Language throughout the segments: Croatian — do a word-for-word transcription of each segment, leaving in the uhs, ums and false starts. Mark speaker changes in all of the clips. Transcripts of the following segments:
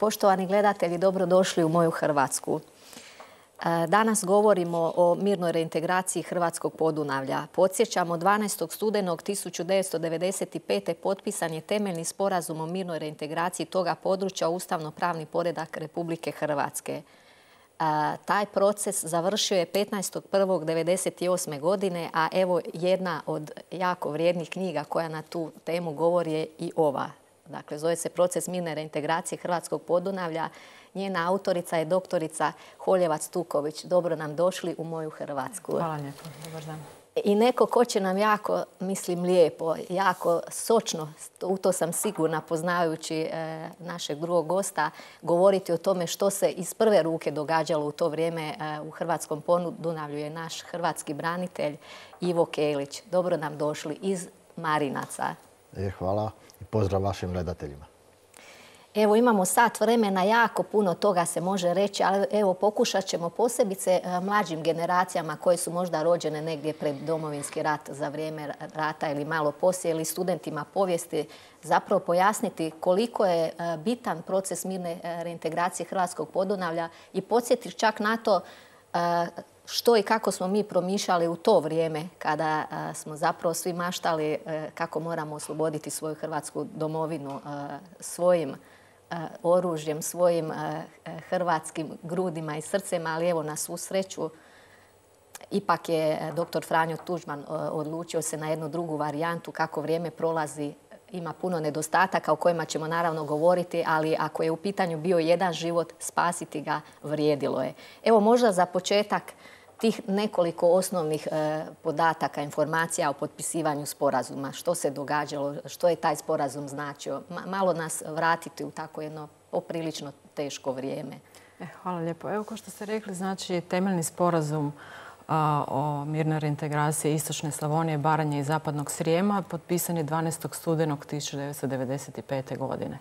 Speaker 1: Poštovani gledatelji, dobrodošli u moju Hrvatsku. Danas govorimo o mirnoj reintegraciji Hrvatskog Podunavlja. Podsjećamo, dvanaestog studenog tisuću devetsto devedeset pete. potpisan je temeljni sporazum o mirnoj reintegraciji toga područja u ustavno-pravni poredak Republike Hrvatske. Taj proces završio je petnaestog prvog devedeset osme. godine, a evo jedna od jako vrijednih knjiga koja na tu temu govori je i ova. Dakle, zove se Proces mirne reintegracije Hrvatskog Podunavlja. Njena autorica je doktorica Holjevac-Tuković. Dobro nam došli u moju Hrvatsku.
Speaker 2: Hvala lijepo. Dobar dan.
Speaker 1: I neko ko će nam jako, mislim, lijepo, jako sočno, u to sam sigurna poznajući e, našeg drugog gosta, govoriti o tome što se iz prve ruke događalo u to vrijeme e, u Hrvatskom Podunavlju je naš hrvatski branitelj Ivo Kelić. Dobro nam došli iz Marinaca.
Speaker 3: E, hvala i pozdrav vašim gledateljima.
Speaker 1: Evo, imamo sat vremena, jako puno toga se može reći, ali evo, pokušat ćemo posebice mlađim generacijama koje su možda rođene negdje pred Domovinski rat, za vrijeme rata ili malo poslije, ili studentima povijesti, zapravo pojasniti koliko je bitan proces mirne reintegracije Hrvatskog Podunavlja i podsjetiti čak na to što i kako smo mi promišljali u to vrijeme kada smo zapravo svi maštali kako moramo osloboditi svoju hrvatsku domovinu svojim oružjem, svojim hrvatskim grudima i srcem, ali evo, na svu sreću ipak je doktor Franjo Tuđman odlučio se na jednu drugu varijantu. Kako vrijeme prolazi, ima puno nedostataka o kojima ćemo naravno govoriti, ali ako je u pitanju bio jedan život, spasiti ga vrijedilo je. Evo, možda za početak tih nekoliko osnovnih e, podataka, informacija o potpisivanju sporazuma. Što se događalo, što je taj sporazum značio. Ma, malo nas vratiti u tako jedno poprilično teško vrijeme.
Speaker 2: E, hvala lijepo. Evo, kao što ste rekli, znači temeljni sporazum a, o mirnoj reintegraciji Istočne Slavonije, Baranje i Zapadnog Srijema potpisan je dvanaestog studenog tisuću devetsto devedeset pete. godine.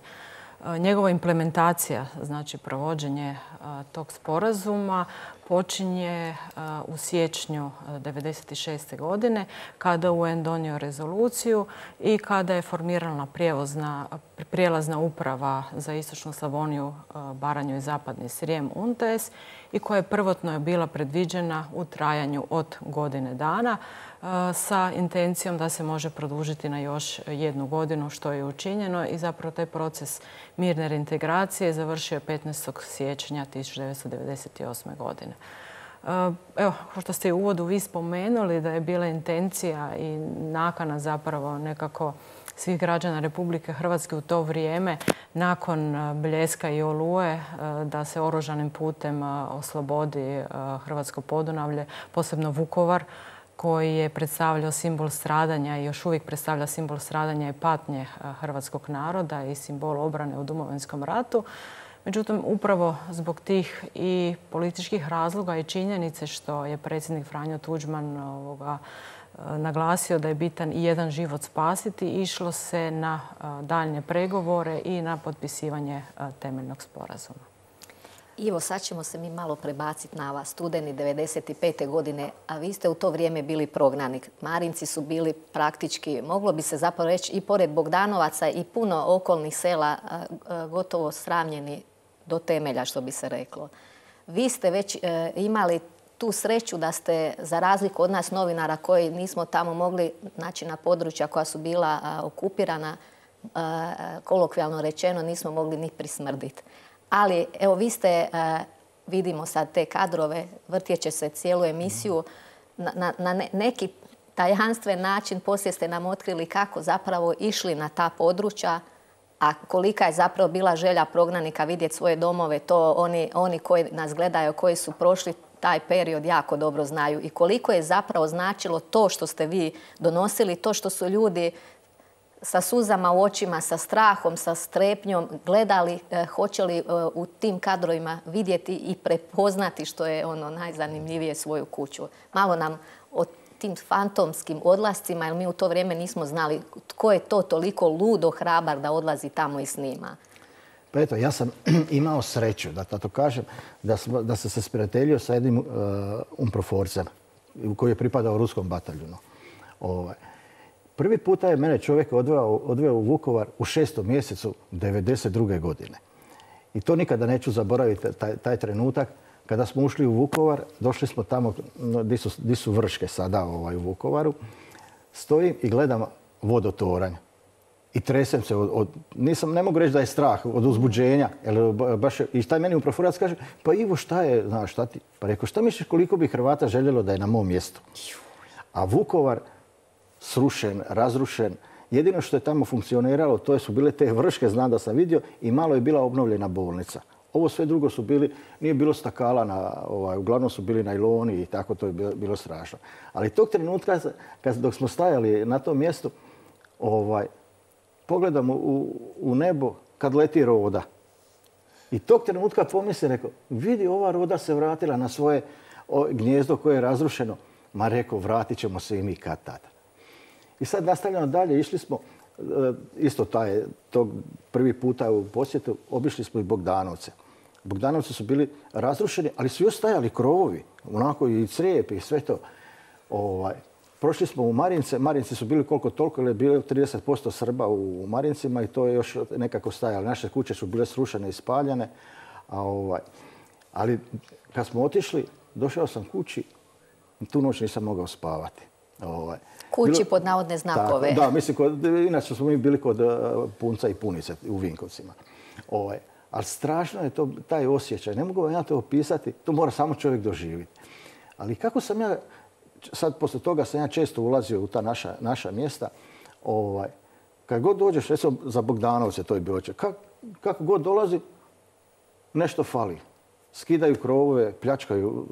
Speaker 2: Njegova implementacija, znači provođenje tog sporazuma, počinje u siječnju devedeset šeste. godine kada U N donio rezoluciju i kada je formirana prijelazna uprava za Istočnu Slavoniju, Baranju i Zapadni Srijem U N T E S i koja je prvotno bila predviđena u trajanju od godine dana sa intencijom da se može produžiti na još jednu godinu, što je učinjeno, i zapravo taj proces mirne reintegracije završio je petnaestog siječnja tisuću devetsto devedeset osme. godine. Evo, kao što ste i u uvodu vi spomenuli, da je bila intencija i nakana zapravo nekako svih građana Republike Hrvatske u to vrijeme, nakon Bljeska i Oluje, da se oružanim putem oslobodi Hrvatsko Podunavlje, posebno Vukovar, koji je predstavljao simbol stradanja i još uvijek predstavlja simbol stradanja i patnje hrvatskog naroda i simbol obrane u Domovinskom ratu. Međutim, upravo zbog tih i političkih razloga i činjenice što je predsjednik Franjo Tuđman ovoga, naglasio da je bitan i jedan život spasiti, išlo se na daljnje pregovore i na potpisivanje temeljnog sporazuma.
Speaker 1: Ivo, sad ćemo se mi malo prebaciti na vas. Studeni devedeset pete. godine, a vi ste u to vrijeme bili prognanik. Marinci su bili praktički, moglo bi se zapravo reći, i pored Bogdanovaca i puno okolnih sela gotovo sravnjeni do temelja, što bi se reklo. Vi ste već e, imali tu sreću da ste, za razliku od nas novinara koji nismo tamo mogli naći na područja koja su bila a, okupirana, a, kolokvijalno rečeno, nismo mogli ni prismrditi. Ali, evo, vi ste, vidimo sad te kadrove, vrtjeće se cijelu emisiju, na, na neki tajanstven način poslije ste nam otkrili kako zapravo išli na ta područja, a kolika je zapravo bila želja prognanika vidjeti svoje domove, to oni, oni koji nas gledaju, koji su prošli taj period, jako dobro znaju. I koliko je zapravo značilo to što ste vi donosili, to što su ljudi sa suzama u očima, sa strahom, sa strepnjom gledali eh, hoće li eh, u tim kadrovima vidjeti i prepoznati, što je ono najzanimljivije, svoju kuću. Malo nam o tim fantomskim odlascima, jer mi u to vrijeme nismo znali tko je to toliko ludo hrabar da odlazi tamo i snima.
Speaker 3: Pa eto, ja sam imao sreću, da to kažem, da, smo, da sam se sprijateljio sa jednim uh, umproforcem koji je pripadao ruskom bataljunu. Ovaj. Prvi puta je mene čovjek odveo, odveo u Vukovar u šestom mjesecu devedeset druge. godine. I to nikada neću zaboraviti, taj, taj trenutak. Kada smo ušli u Vukovar, došli smo tamo gdje su, gdje su Vrške sada ovaj, u Vukovaru. Stojim i gledam vodotoranj. I tresem se od, od, nisam, ne mogu reći da je strah od uzbuđenja. Jer baš, i taj meni upravorac kaže, pa Ivo šta je, znaš šta ti? Pa rekao, šta misliš koliko bi Hrvata željelo da je na mom mjestu? A Vukovar srušen, razrušen. Jedino što je tamo funkcioniralo, to su bile te Vrške, znam da sam vidio, i malo je bila obnovljena bolnica. Ovo sve drugo su bili, nije bilo stakala, na, ovaj, uglavnom su bili najloni i tako, to je bilo, bilo strašno. Ali tog trenutka, kad, dok smo stajali na tom mjestu, ovaj, pogledam u, u nebo kad leti roda. I tog trenutka pomislim, rekao, vidi, ova roda se vratila na svoje o, gnijezdo koje je razrušeno. Ma rekao, vratit ćemo se i mi kad tada. I sad nastavljamo dalje, išli smo, isto taj, tog prvi puta u posjetu, obišli smo i Bogdanovce. Bogdanovci su bili razrušeni, ali su još stajali krovovi, onako i crijep i sve to. Ovaj, prošli smo u Marince, Marinci su bili koliko toliko, jer je bilo trideset posto Srba u Marincima i to je još nekako stajalo. Naše kuće su bile srušene i spaljene. A, ovaj, ali kad smo otišli, došao sam kući, tu noć nisam mogao spavati. Ovaj,
Speaker 1: Kući
Speaker 3: bilo,
Speaker 1: pod navodne znakove.
Speaker 3: Tako, da, mislim, kod, inače smo mi bili kod uh, Punca i Punice u Vinkovcima. Ovaj, ali strašno je to, taj osjećaj. Ne mogu vam ja to opisati, to mora samo čovjek doživjeti. Ali kako sam ja, sad poslije toga sam ja često ulazio u ta naša, naša mjesta, ovaj, kad god dođeš, recimo za Bogdanovce to je bilo, kak, kako god dolazi, nešto fali. Skidaju krovove, pljačkaju,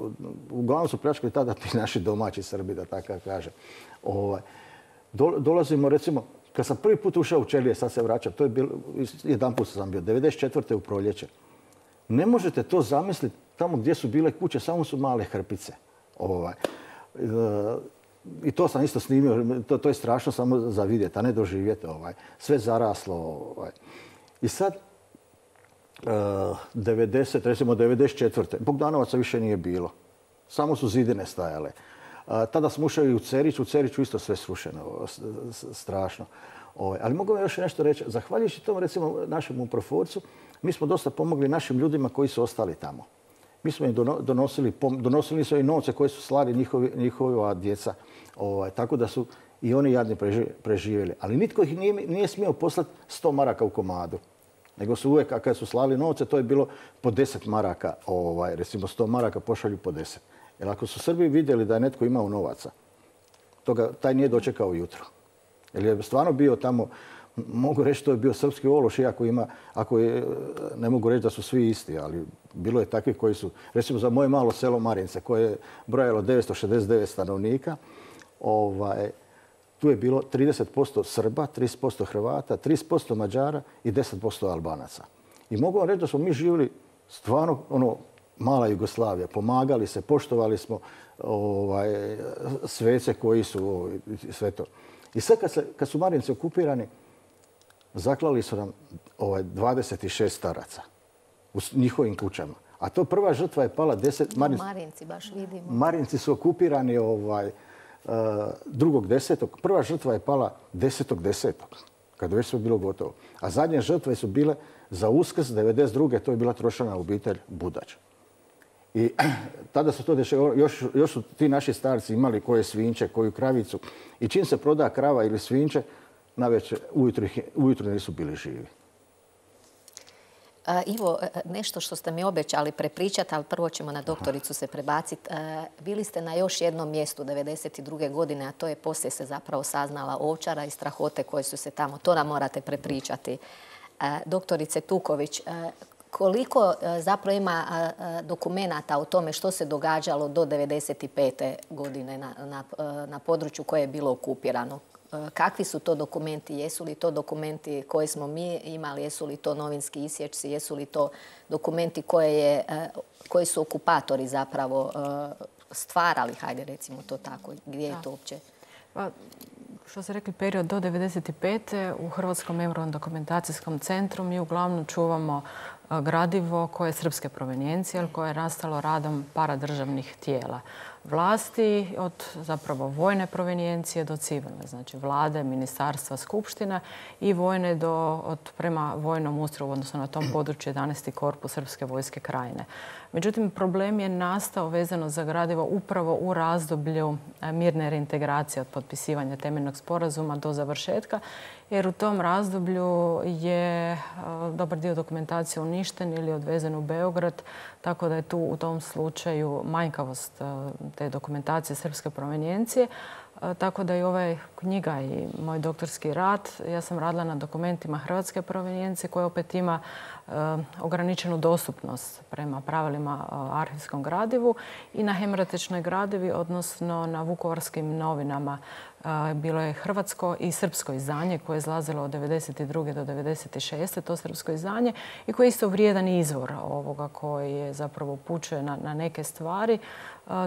Speaker 3: uglavnom su pljačkali tada ti naši domaći Srbi, da tako kažem. Ovaj, do, dolazimo, recimo, kad sam prvi put ušao u Čelije, sad se vraćam, to je bilo, jedan put sam bio, devedeset četvrte u proljeće. Ne možete to zamisliti, tamo gdje su bile kuće, samo su male hrpice. Ovaj, e, I to sam isto snimio, to, to je strašno samo za vidjeti, a ne doživjeti. Ovaj, sve zaraslo. Ovaj. I sad, devedeset, recimo devedeset četvrte Bogdanovaca više nije bilo. Samo su zidine stajale. Tada smo ušli u Cerić, u Ceriću isto sve srušeno, strašno. Ali mogu vam još nešto reći. Zahvaljujući tom, recimo, našem uproforcu, mi smo dosta pomogli našim ljudima koji su ostali tamo. Mi smo im donosili, donosili su i novce koje su slali njihovi, njihova djeca. Ovaj, tako da su i oni jadni preživjeli. Ali nitko ih nije, nije smio poslati sto maraka u komadu. Nego su uvijek, a kad su slali novce, to je bilo po deset maraka, ovaj, recimo sto maraka pošalju po deset. Jer ako su Srbi vidjeli da je netko imao novaca, toga, taj nije dočekao jutro. Jer je stvarno bio tamo, mogu reći to je bio srpski ološ, iako ima, ako je, ne mogu reći da su svi isti, ali bilo je takvih koji su, recimo za moje malo selo Marince, koje je brojalo devetsto šezdeset devet stanovnika, ovaj, tu je bilo trideset posto Srba, trideset posto Hrvata, trideset posto Mađara i deset posto Albanaca. I mogu vam reći da smo mi živjeli stvarno ono, mala Jugoslavija. Pomagali se, poštovali smo ovaj, svece koji su ovaj, sve to. I sad kad, se, kad su Marinci okupirani, zaklali su nam ovaj, dvadeset šest staraca u njihovim kućama. A to prva žrtva je pala deset...
Speaker 1: Marinci, Marinci baš vidimo.
Speaker 3: Marinci su okupirani ovaj, drugog desetog. Prva žrtva je pala desetog desetog, kad već sve bilo gotovo. A zadnje žrtve su bile za Uskrs devedeset druge. To je bila trošana obitelj Budač. I tada su to dešavalo, još, još su ti naši starci imali koje svinče, koju kravicu. I čim se proda krava ili svinče, navečer ujutro, ujutro nisu bili živi.
Speaker 1: Ivo, nešto što ste mi obećali prepričati, ali prvo ćemo na doktoricu se prebaciti. Bili ste na još jednom mjestu devedeset druge godine, a to je poslije se zapravo saznala Ovčara i strahote koje su se tamo. To nam morate prepričati. Doktorice Tuković, koliko zapravo ima dokumenata o tome što se događalo do devedeset pete godine na, na, na području koje je bilo okupirano? Kakvi su to dokumenti? Jesu li to dokumenti koje smo mi imali? Jesu li to novinski isječci? Jesu li to dokumenti koje, je, koje su okupatori zapravo stvarali? Hajde, recimo to tako. Gdje je to uopće?
Speaker 2: Pa, što ste rekli, period do devedeset pete u Hrvatskom memorijalno dokumentacijskom centru mi uglavnom čuvamo gradivo koje je srpske provenijencije, ali koje je nastalo radom paradržavnih tijela vlasti, od zapravo vojne provenijencije do civilne, znači vlade, ministarstva, skupština i vojne do, od, prema vojnom ustroju, odnosno na tom području jedanaesti korpus Srpske vojske Krajine. Međutim, problem je nastao vezano za gradivo upravo u razdoblju mirne reintegracije od potpisivanja temeljnog sporazuma do završetka, jer u tom razdoblju je dobar dio dokumentacije uništen ili odvezen u Beograd, tako da je tu u tom slučaju manjkavost te dokumentacije srpske provenijencije. Tako da i ova knjiga i moj doktorski rad, ja sam radila na dokumentima hrvatske provenijencije koja opet ima ograničenu dostupnost prema pravilima arhivskom gradivu i na hemoratičnoj gradivi, odnosno na vukovarskim novinama. Bilo je hrvatsko i srpsko izdanje koje je izlazilo od devedeset druge do devedeset šeste to srpsko izdanje i koji je isto vrijedan izvor ovoga koji je zapravo upućuje na, na neke stvari,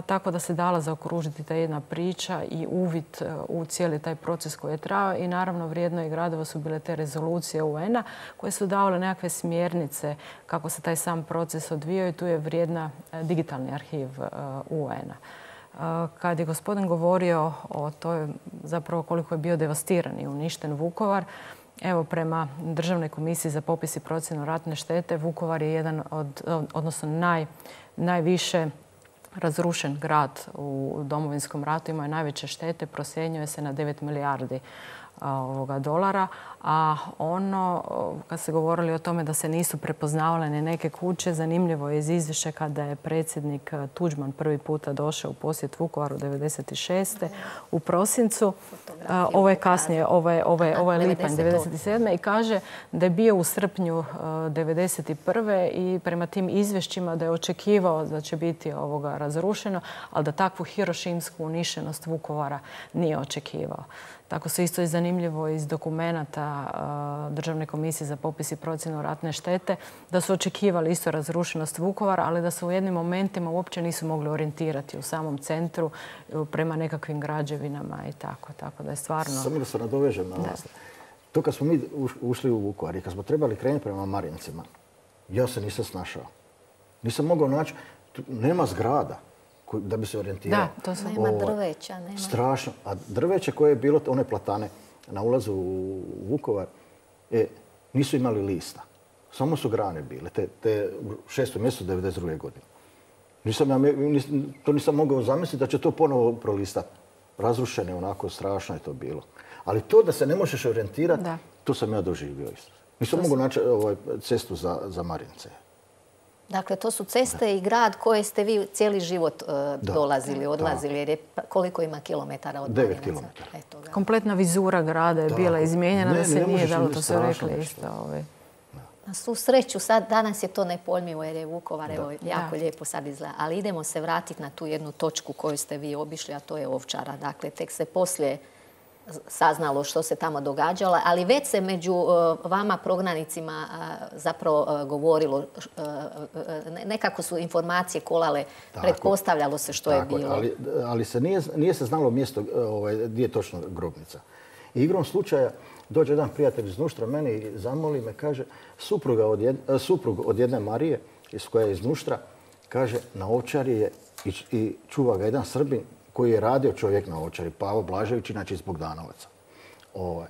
Speaker 2: tako da se dala zaokružiti ta jedna priča i uvid u cijeli taj proces koji je trajao i naravno vrijedno i gradivo su bile te rezolucije U N-a koje su davale nekakve smjernice kako se taj sam proces odvijao i tu je vrijedna digitalni arhiv U N-a. Kad je gospodin govorio o toj zapravo koliko je bio devastiran i uništen Vukovar, evo prema Državnoj komisiji za popis i procjenu ratne štete, Vukovar je jedan od, odnosno naj, najviše razrušen grad u Domovinskom ratu, imao je najveće štete, procjenjuje se na devet milijardi ovoga dolara, a ono, kad ste govorili o tome da se nisu prepoznavale ni neke kuće, zanimljivo je iz izvješća kada je predsjednik Tuđman prvi puta došao u posjet Vukovaru devedeset šeste u prosincu. Ovo je kasnije, ovo je, ovo je, ovo je lipanj devedeset sedme i kaže da je bio u srpnju devedeset prve i prema tim izvješćima da je očekivao da će biti ovoga razrušeno, ali da takvu hirošimsku uništenost Vukovara nije očekivao. Tako se isto je zanimljivo iz dokumenata Državne komisije za popis i procjenu ratne štete da su očekivali isto razrušenost Vukovara, ali da se u jednim momentima uopće nisu mogli orijentirati u samom centru prema nekakvim građevinama i tako. Tako da je stvarno...
Speaker 3: Samo da se nadovežem na vas. To kad smo mi ušli u Vukovar i kad smo trebali krenuti prema Marincima, ja se nisam snašao. Nisam mogao naći, nema zgrada da bi se orijentirao.
Speaker 2: Da, to su...
Speaker 1: Nema drveća, nema.
Speaker 3: Strašno. A drveće koje je bilo, one platane na ulazu u Vukovar, e, nisu imali lista. Samo su grane bile, te, te u šestom mjesecu devedeset druge godine. Nisam, ja, nisam, to nisam mogao zamisliti da će to ponovo prolistati. Razrušeno, onako strašno je to bilo. Ali to da se ne možeš orijentirati, to sam ja doživio isto. Nisam mogao naći ovaj, cestu za, za Marince.
Speaker 1: Dakle, to su ceste i grad koje ste vi cijeli život uh, dolazili, odlazili, jer je koliko ima kilometara od Marinaca?
Speaker 3: Devet kilometara.
Speaker 2: Kompletna vizura grada je bila izmijenjena, da se nije dalo, to se rekli isto.
Speaker 1: Na svu sreću, sad danas je to nepojmljivo jer je Vukovar evo, jako lijepo sad izgleda. Ali idemo se vratiti na tu jednu točku koju ste vi obišli, a to je Ovčara. Dakle, tek se poslije saznalo što se tamo događalo, ali već se među vama prognanicima zapravo govorilo, nekako su informacije kolale, pretpostavljalo se što je bilo.
Speaker 3: Ali, ali se nije, nije se znalo mjesto ovaj, gdje je točno grobnica. I igrom slučaja dođe jedan prijatelj iz Nuštra meni i zamoli me, kaže, supruga od jed, suprug od jedne Marije, koja je iz Nuštra, kaže, na Ovčari je i, i čuva ga jedan Srbin koji je radio čovjek na Ovčari, Pavo Blažević, inače iz Bogdanovaca. Ovaj.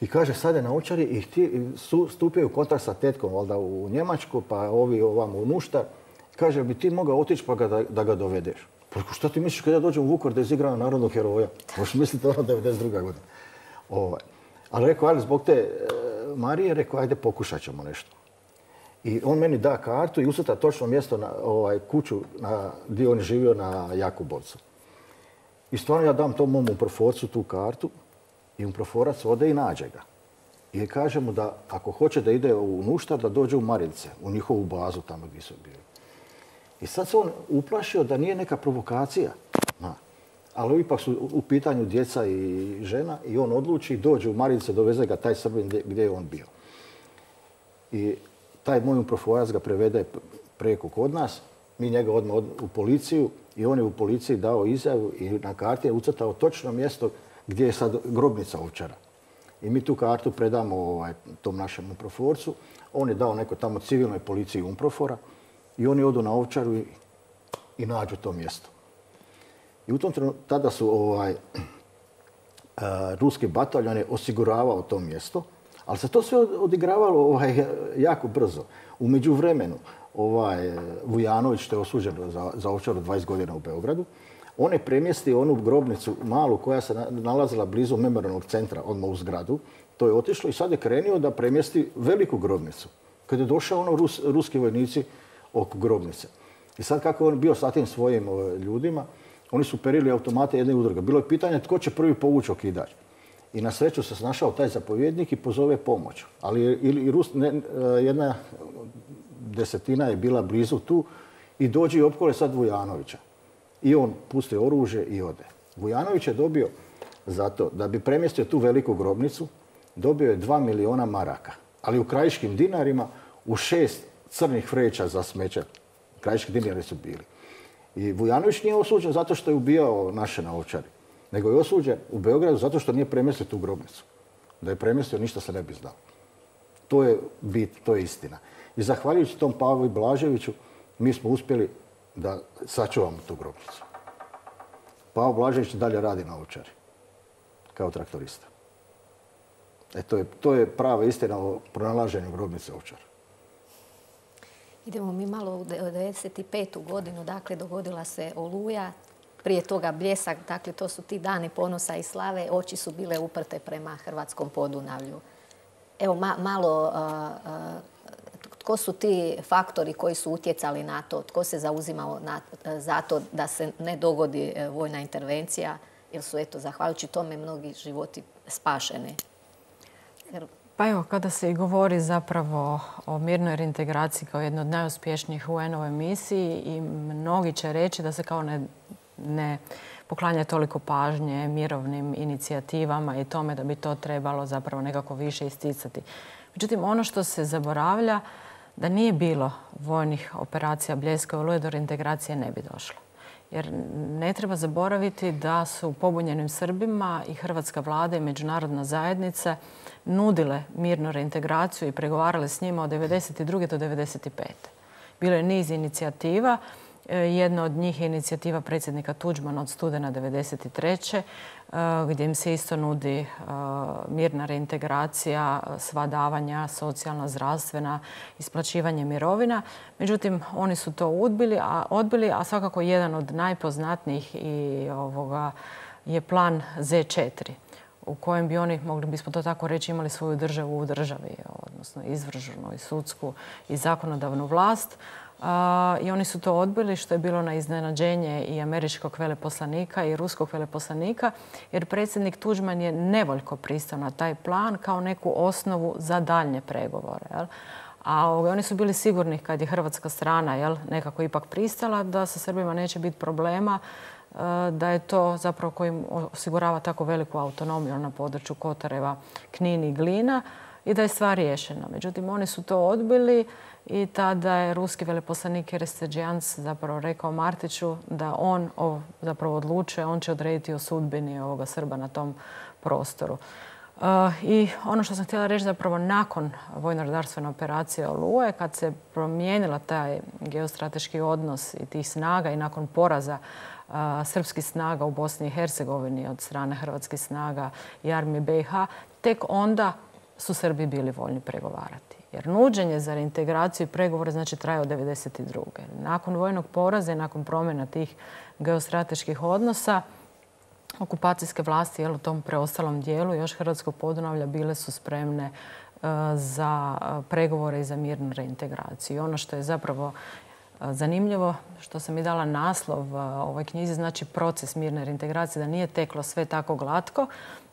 Speaker 3: I kaže, sad je na Ovčari i htije, su, stupio u kontakt sa tetkom valjda u Njemačku, pa ovi ovamo u Nuštar. Kaže, bi ti mogao otići pa ga, da, da ga dovedeš? Pa što ti misliš kad ja dođem u Vukovar da izigram narodnog heroja? Možeš misliti ono devedeset druga godina. Ovaj. Ali rekao, ali zbog te e, Marije, rekao, ajde pokušat ćemo nešto. I on meni da kartu i ucrta točno mjesto na ovaj, kuću na, gdje on živio na Jakubovcu. I stvarno ja dam tom mom umproforcu tu kartu i umproforac ode i nađe ga. I kaže mu da ako hoće da ide u Nuštar, da dođe u Marince, u njihovu bazu tamo gdje su bili. I sad se on uplašio da nije neka provokacija. Na. Ali ipak su u pitanju djeca i žena i on odluči i dođe u Marince, doveze ga taj Srbin gdje je on bio. I taj moj umproforac ga prevede preko kod nas. Mi njega odmah u policiju i on je u policiji dao izjavu i na karti je ucrtao točno mjesto gdje je sad grobnica Ovčara. I mi tu kartu predamo ovaj, tom našem umproforcu. on je dao neko tamo civilnoj policiji Unprofora i oni odu na Ovčaru i, i nađu to mjesto. I u tom trenutku, tada su ovaj, a, ruski bataljon je osiguravao to mjesto, ali se to sve odigravalo ovaj, jako brzo. U međuvremenu, ovaj, Vujanović, što je osuđen za, za Ovčaru dvadeset godina u Beogradu, on je premjestio onu grobnicu malu koja se nalazila blizu memorijalnog centra, odmah u zgradu. To je otišlo i sad je krenio da premjesti veliku grobnicu. Kad je došao ono Rus, ruski vojnici oko grobnice. I sad kako je on bio sa tim svojim o, ljudima, oni su perili automate jedne udruge. Bilo je pitanje tko će prvi povući okidač. I na sreću se snašao taj zapovjednik i pozove pomoć. Ali i Rus, ne, jedna desetina je bila blizu tu i dođe i opkole sad Vujanovića. I on pusti oružje i ode. Vujanović je dobio za to da bi premjestio tu veliku grobnicu, dobio je dva miliona maraka. Ali u krajiškim dinarima u šest crnih vreća za smeće. Krajiški dinari su bili. I Vujanović nije osuđen zato što je ubijao naše na Ovčari, nego je osuđen u Beogradu zato što nije premjestio tu grobnicu. Da je premjestio, ništa se ne bi znao. To je bit, to je istina. I zahvaljujući tom Pavlu Blaževiću, mi smo uspjeli da sačuvamo tu grobnicu. Pavo Blažević dalje radi na Ovčari, kao traktorista. E, to je, to je prava istina o pronalaženju grobnice Ovčara.
Speaker 1: Idemo mi malo u devedeset petu godinu, dakle dogodila se Oluja, prije toga Bljesak, dakle to su ti dani ponosa i slave, oči su bile uprte prema hrvatskom Podunavlju. Evo ma, malo, a, a, tko su ti faktori koji su utjecali na to, tko se zauzimao na, za to da se ne dogodi vojna intervencija, jer su eto, zahvaljujući tome mnogi životi spašeni. Jer...
Speaker 2: Pa evo, kada se i govori zapravo o mirnoj reintegraciji kao jednoj od najuspješnijih U N-ove misiji i mnogi će reći da se kao ne, ne poklanja toliko pažnje mirovnim inicijativama i tome da bi to trebalo zapravo nekako više isticati. Međutim, ono što se zaboravlja da nije bilo vojnih operacija Bljeska i Oluje, do reintegracije ne bi došlo. Jer ne treba zaboraviti da su pobunjenim Srbima i hrvatska vlada i međunarodna zajednica nudile mirnu reintegraciju i pregovarale s njima od devedeset druge do devedeset pete Bilo je niz inicijativa. Jedna od njih je inicijativa predsjednika Tuđmana od studena devedeset treće gdje im se isto nudi mirna reintegracija, sva davanja, socijalna, zdravstvena, isplaćivanje mirovina. Međutim, oni su to odbili, a, odbili, a svakako jedan od najpoznatnijih i ovoga je plan Z četiri u kojem bi oni, mogli bismo to tako reći, imali svoju državu u državi, odnosno izvršnu i sudsku i zakonodavnu vlast. Uh, I oni su to odbili, što je bilo na iznenađenje i američkog veleposlanika i ruskog veleposlanika, jer predsjednik Tuđman je nevoljko pristao na taj plan kao neku osnovu za daljnje pregovore. Jel? A oni su bili sigurni kad je hrvatska strana jel, nekako ipak pristala da sa Srbima neće biti problema, uh, da je to zapravo kojim osigurava tako veliku autonomiju na području Kotareva, Knin i Glina i da je stvar riješena. Međutim, oni su to odbili. I tada je ruski veleposlanik Erestedžijans zapravo rekao Martiću da on zapravo odlučuje, on će odrediti o sudbini ovoga Srba na tom prostoru. I ono što sam htjela reći zapravo nakon vojno-redarstvene operacije Oluje, kad se promijenila taj geostrateški odnos i tih snaga i nakon poraza srpskih snaga u Bosni i Hercegovini od strane hrvatskih snaga i armije B i H, tek onda su Srbi bili voljni pregovarati. Jer nuđenje za reintegraciju i pregovore znači traje od devedeset druge Nakon vojnog poraza i nakon promjena tih geostrateških odnosa, okupacijske vlasti jel, u tom preostalom dijelu još hrvatskog Podunavlja bile su spremne uh, za pregovore i za mirnu reintegraciju. I ono što je zapravo uh, zanimljivo, što sam i dala naslov uh, ovoj knjizi, znači proces mirne reintegracije, da nije teklo sve tako glatko,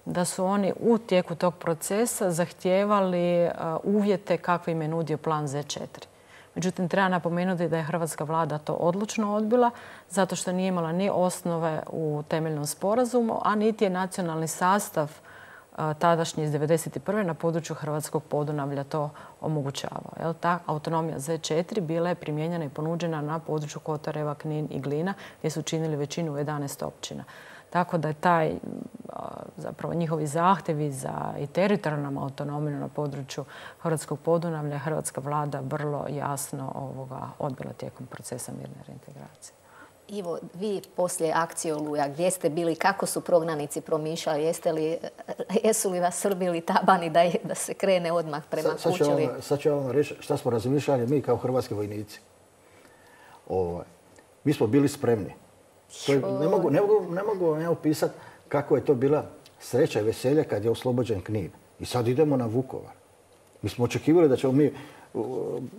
Speaker 2: da su oni u tijeku tog procesa zahtijevali uvjete kakve im je nudio plan Z četiri. Međutim, treba napomenuti da je hrvatska vlada to odlučno odbila zato što nije imala ni osnove u temeljnom sporazumu, a niti je nacionalni sastav tadašnji iz devedeset prve na području hrvatskog Podunavlja to omogućavao. Ta autonomija Z četiri bila je primijenjena i ponuđena na području Kotareva, Knin i Glina gdje su činili većinu u jedanaest općina. Tako da je taj zapravo njihovi zahtjevi za i teritorijalnom autonomiju na području Hrvatskog Podunavlja hrvatska vlada vrlo jasno ovoga odbila tijekom procesa mirne reintegracije.
Speaker 1: Ivo, vi poslije akcije Oluja, gdje ste bili, kako su prognanici promišljali, jeste li, jesu li vas srbili tabani da, je, da se krene odmah prema
Speaker 3: Sad, sad
Speaker 1: kući?
Speaker 3: ću vam, sad ću vam reći šta smo razmišljali mi kao hrvatski vojnici. Ovaj, mi smo bili spremni. To je, ne mogu, ne mogu, ne mogu vam ja opisati kako je to bila sreća i veselje kad je oslobođen Knin. I sad idemo na Vukovar. Mi smo očekivali da ćemo mi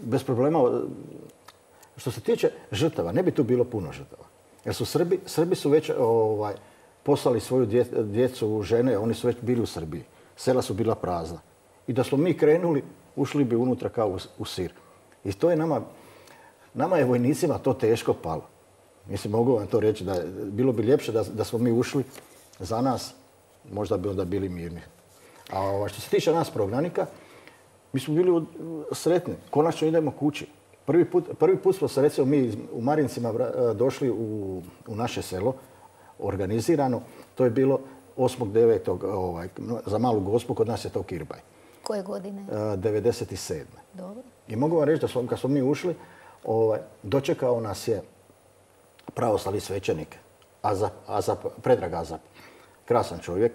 Speaker 3: bez problema. Što se tiče žrtava, ne bi tu bilo puno žrtava. Jer su Srbi, Srbi su već ovaj, poslali svoju dje, djecu, žene, oni su već bili u Srbiji. Sela su bila prazna. I da smo mi krenuli, ušli bi unutra kao u, u sir. I to je nama, nama je vojnicima to teško palo. Mislim, mogu vam to reći, da je, bilo bi ljepše da, da smo mi ušli za nas, možda bi onda bili mirni. A ovaj, što se tiče nas prognanika, mi smo bili sretni. Konačno idemo kući. Prvi put, prvi put smo se, recimo, mi u Marincima došli u, u naše selo, organizirano. To je bilo osmog devetog Ovaj, za Malu Gospu, kod nas je to Kirbaj.
Speaker 1: Koje godine?
Speaker 3: devedeset sedme
Speaker 1: Dobro.
Speaker 3: I mogu vam reći da smo, kad smo mi ušli, ovaj, dočekao nas je pravoslavni svećenik, Azap, Azap, Predrag Azap. Krasan čovjek.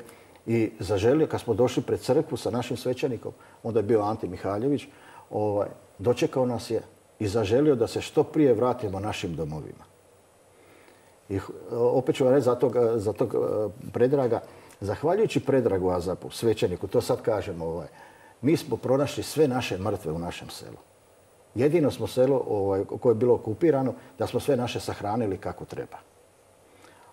Speaker 3: I zaželio, kad smo došli pred crkvu sa našim svećenikom, onda je bio Ante Mihaljević, ovaj, dočekao nas je i zaželio da se što prije vratimo našim domovima. I opet ću vam reći za tog, za tog Predraga, zahvaljujući Predragu Azapu, svećeniku, to sad kažemo, ovaj, mi smo pronašli sve naše mrtve u našem selu. Jedino smo selo ovaj, koje je bilo okupirano, da smo sve naše sahranili kako treba.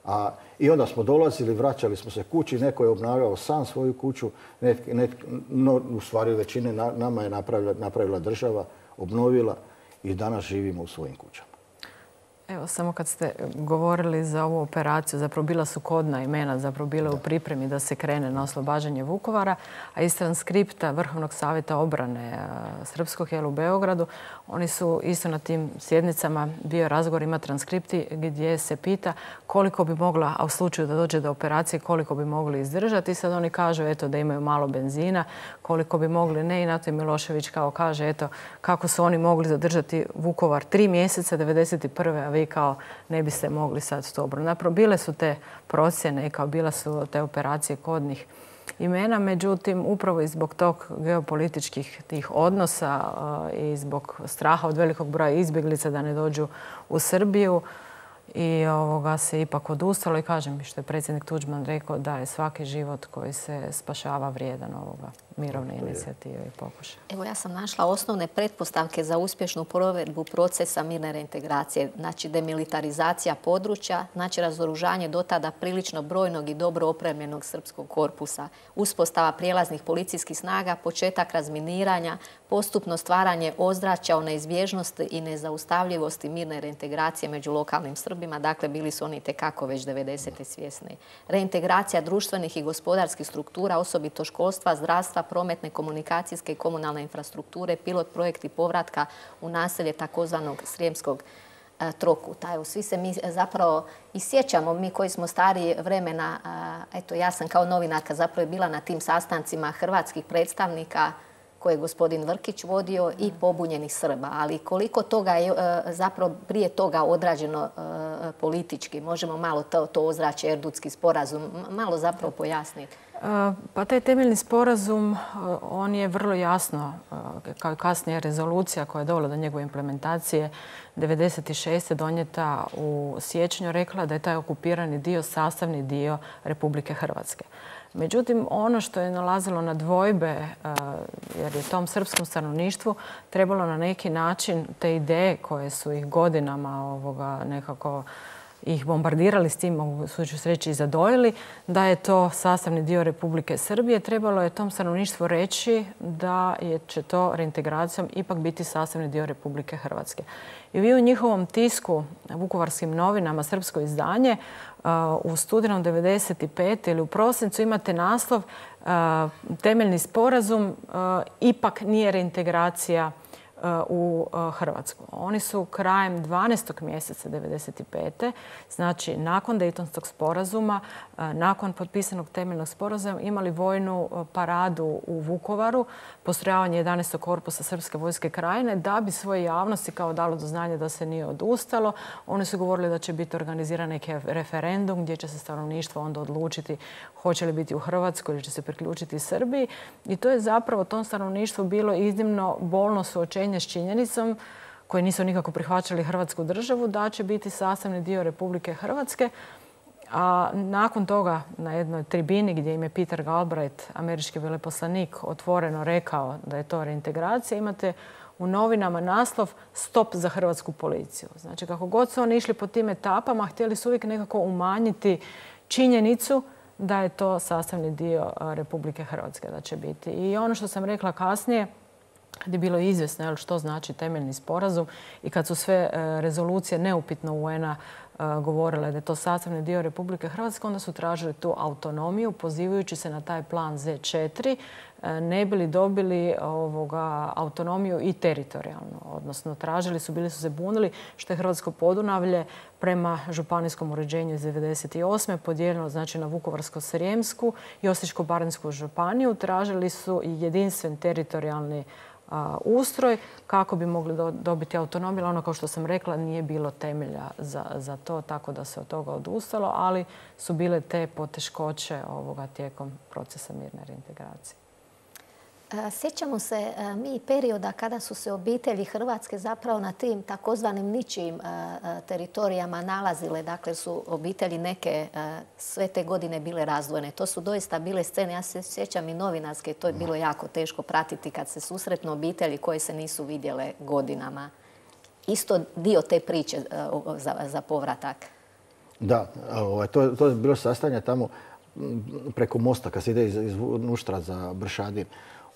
Speaker 3: A, I onda smo dolazili, vraćali smo se kući, neko je obnavljao sam svoju kuću, net, net, no, u stvari većine na, nama je napravila, napravila država, obnovila i danas živimo u svojim kućama.
Speaker 2: Evo, samo kad ste govorili za ovu operaciju, zapravo bila su kodna imena, zapravo bile u pripremi da se krene na oslobađanje Vukovara, a iz transkripta Vrhovnog savjeta obrane srpskog jel u Beogradu, oni su isto na tim sjednicama, bio razgovor, ima transkripti gdje se pita koliko bi mogla, a u slučaju da dođe do operacije, koliko bi mogli izdržati. I sad oni kažu eto, da imaju malo benzina, koliko bi mogli ne. I na to Milošević kao kaže eto, kako su oni mogli zadržati Vukovar tri mjeseca devedeset prve a vi kao ne biste mogli sad to obranu. Napravo, bile su te procjene i kao bila su te operacije kodnih imena, međutim, upravo i zbog tog geopolitičkih tih odnosa i zbog straha od velikog broja izbjeglica da ne dođu u Srbiju i ovoga se ipak odustalo i kažem što je predsjednik Tuđman rekao da je svaki život koji se spašava vrijedan ovoga mirovne inicijative i pokušaja.
Speaker 1: Evo, ja sam našla osnovne pretpostavke za uspješnu provedbu procesa mirne reintegracije. Znači, demilitarizacija područja, znači razoružanje do tada prilično brojnog i dobro opremljenog srpskog korpusa, uspostava prijelaznih policijskih snaga, početak razminiranja, postupno stvaranje ozračja o neizbježnosti i nezaustavljivosti mirne reintegracije među lokalnim Srbima. Dakle, bili su oni tekako već devedesete svjesni. Reintegracija društvenih i gospodarskih struktura, osobito školstva, zdravstva, prometne, komunikacijske i komunalne infrastrukture, pilot projekti povratka u naselje takozvanog Srijemskog e, trokuta. Evo, svi se mi zapravo i sjećamo, mi koji smo stariji vremena, a, eto, ja sam kao novinarka zapravo bila na tim sastancima hrvatskih predstavnika koje je gospodin Vrkić vodio i pobunjenih Srba. Ali koliko toga je e, zapravo prije toga odrađeno e, politički, možemo malo to, to ozračje, Erdutski sporazum, malo zapravo pojasniti.
Speaker 2: Pa taj temeljni sporazum, on je vrlo jasno, kao i kasnije rezolucija koja je dovela do njegove implementacije devedeset šeste donijeta u siječnju, rekla da je taj okupirani dio sastavni dio Republike Hrvatske. Međutim, ono što je nalazilo na dvojbe, jer je tom srpskom stanovništvu trebalo na neki način te ideje koje su ih godinama ovoga nekako ih bombardirali s tim, mogu suću sreći i zadojili, da je to sastavni dio Republike Srbije. Trebalo je tom stanovništvu reći da je, će to reintegracijom ipak biti sastavni dio Republike Hrvatske. I vi u njihovom tisku, Vukovarskim novinama, srpsko izdanje, u studenom devedeset pete ili u prosincu imate naslov temeljni sporazum ipak nije reintegracija u Hrvatsku. Oni su krajem dvanaestog mjeseca devedeset pete. znači nakon Dejtonskog sporazuma, nakon potpisanog temeljnog sporazuma, imali vojnu paradu u Vukovaru, postrojavanje jedanaestog korpusa Srpske vojske Krajine, da bi svoje javnosti kao dalo do znanja da se nije odustalo. Oni su govorili da će biti organiziran neki referendum gdje će se stanovništvo onda odlučiti hoće li biti u Hrvatskoj ili će se priključiti Srbiji. I to je zapravo tom stanovništvu bilo iznimno bolno suočenje s činjenicom, koji nisu nikako prihvaćali Hrvatsku državu, da će biti sastavni dio Republike Hrvatske. A nakon toga na jednoj tribini gdje im je Peter Galbraith, američki veleposlanik, otvoreno rekao da je to reintegracija, imate u novinama naslov Stop za hrvatsku policiju. Znači, kako god su oni išli po tim etapama, htjeli su uvijek nekako umanjiti činjenicu da je to sastavni dio Republike Hrvatske da će biti. I ono što sam rekla kasnije, kad je bilo izvjesno što znači temeljni sporazum i kad su sve rezolucije neupitno U N-a govorile da je to sastavni dio Republike Hrvatske, onda su tražili tu autonomiju pozivajući se na taj plan Z četiri, ne bili dobili ovoga, autonomiju i teritorijalno. Odnosno, tražili su, bili su se bunili što je Hrvatsko Podunavlje prema županijskom uređenju iz devedeset osme podijeljeno znači, na Vukovarsko-srijemsku i Osječko-baranjsku županiju. Tražili su i jedinstven teritorijalni ustroj kako bi mogli dobiti autonomiju. Ono, kao što sam rekla, nije bilo temelja za, za to, tako da se od toga odustalo, ali su bile te poteškoće ovoga tijekom procesa mirne reintegracije.
Speaker 1: Sjećamo se mi perioda kada su se obitelji Hrvatske zapravo na tim takozvanim ničijim teritorijama nalazile. Dakle, su obitelji neke sve te godine bile razdvojene. To su doista bile scene. Ja se sjećam i novinarske. To je bilo jako teško pratiti kad se susretnu obitelji koje se nisu vidjele godinama. Isto dio te priče za, za povratak.
Speaker 3: Da, to, to je bilo sastanje tamo preko mosta kad se ide iz, iz Nuštra za Bršadin.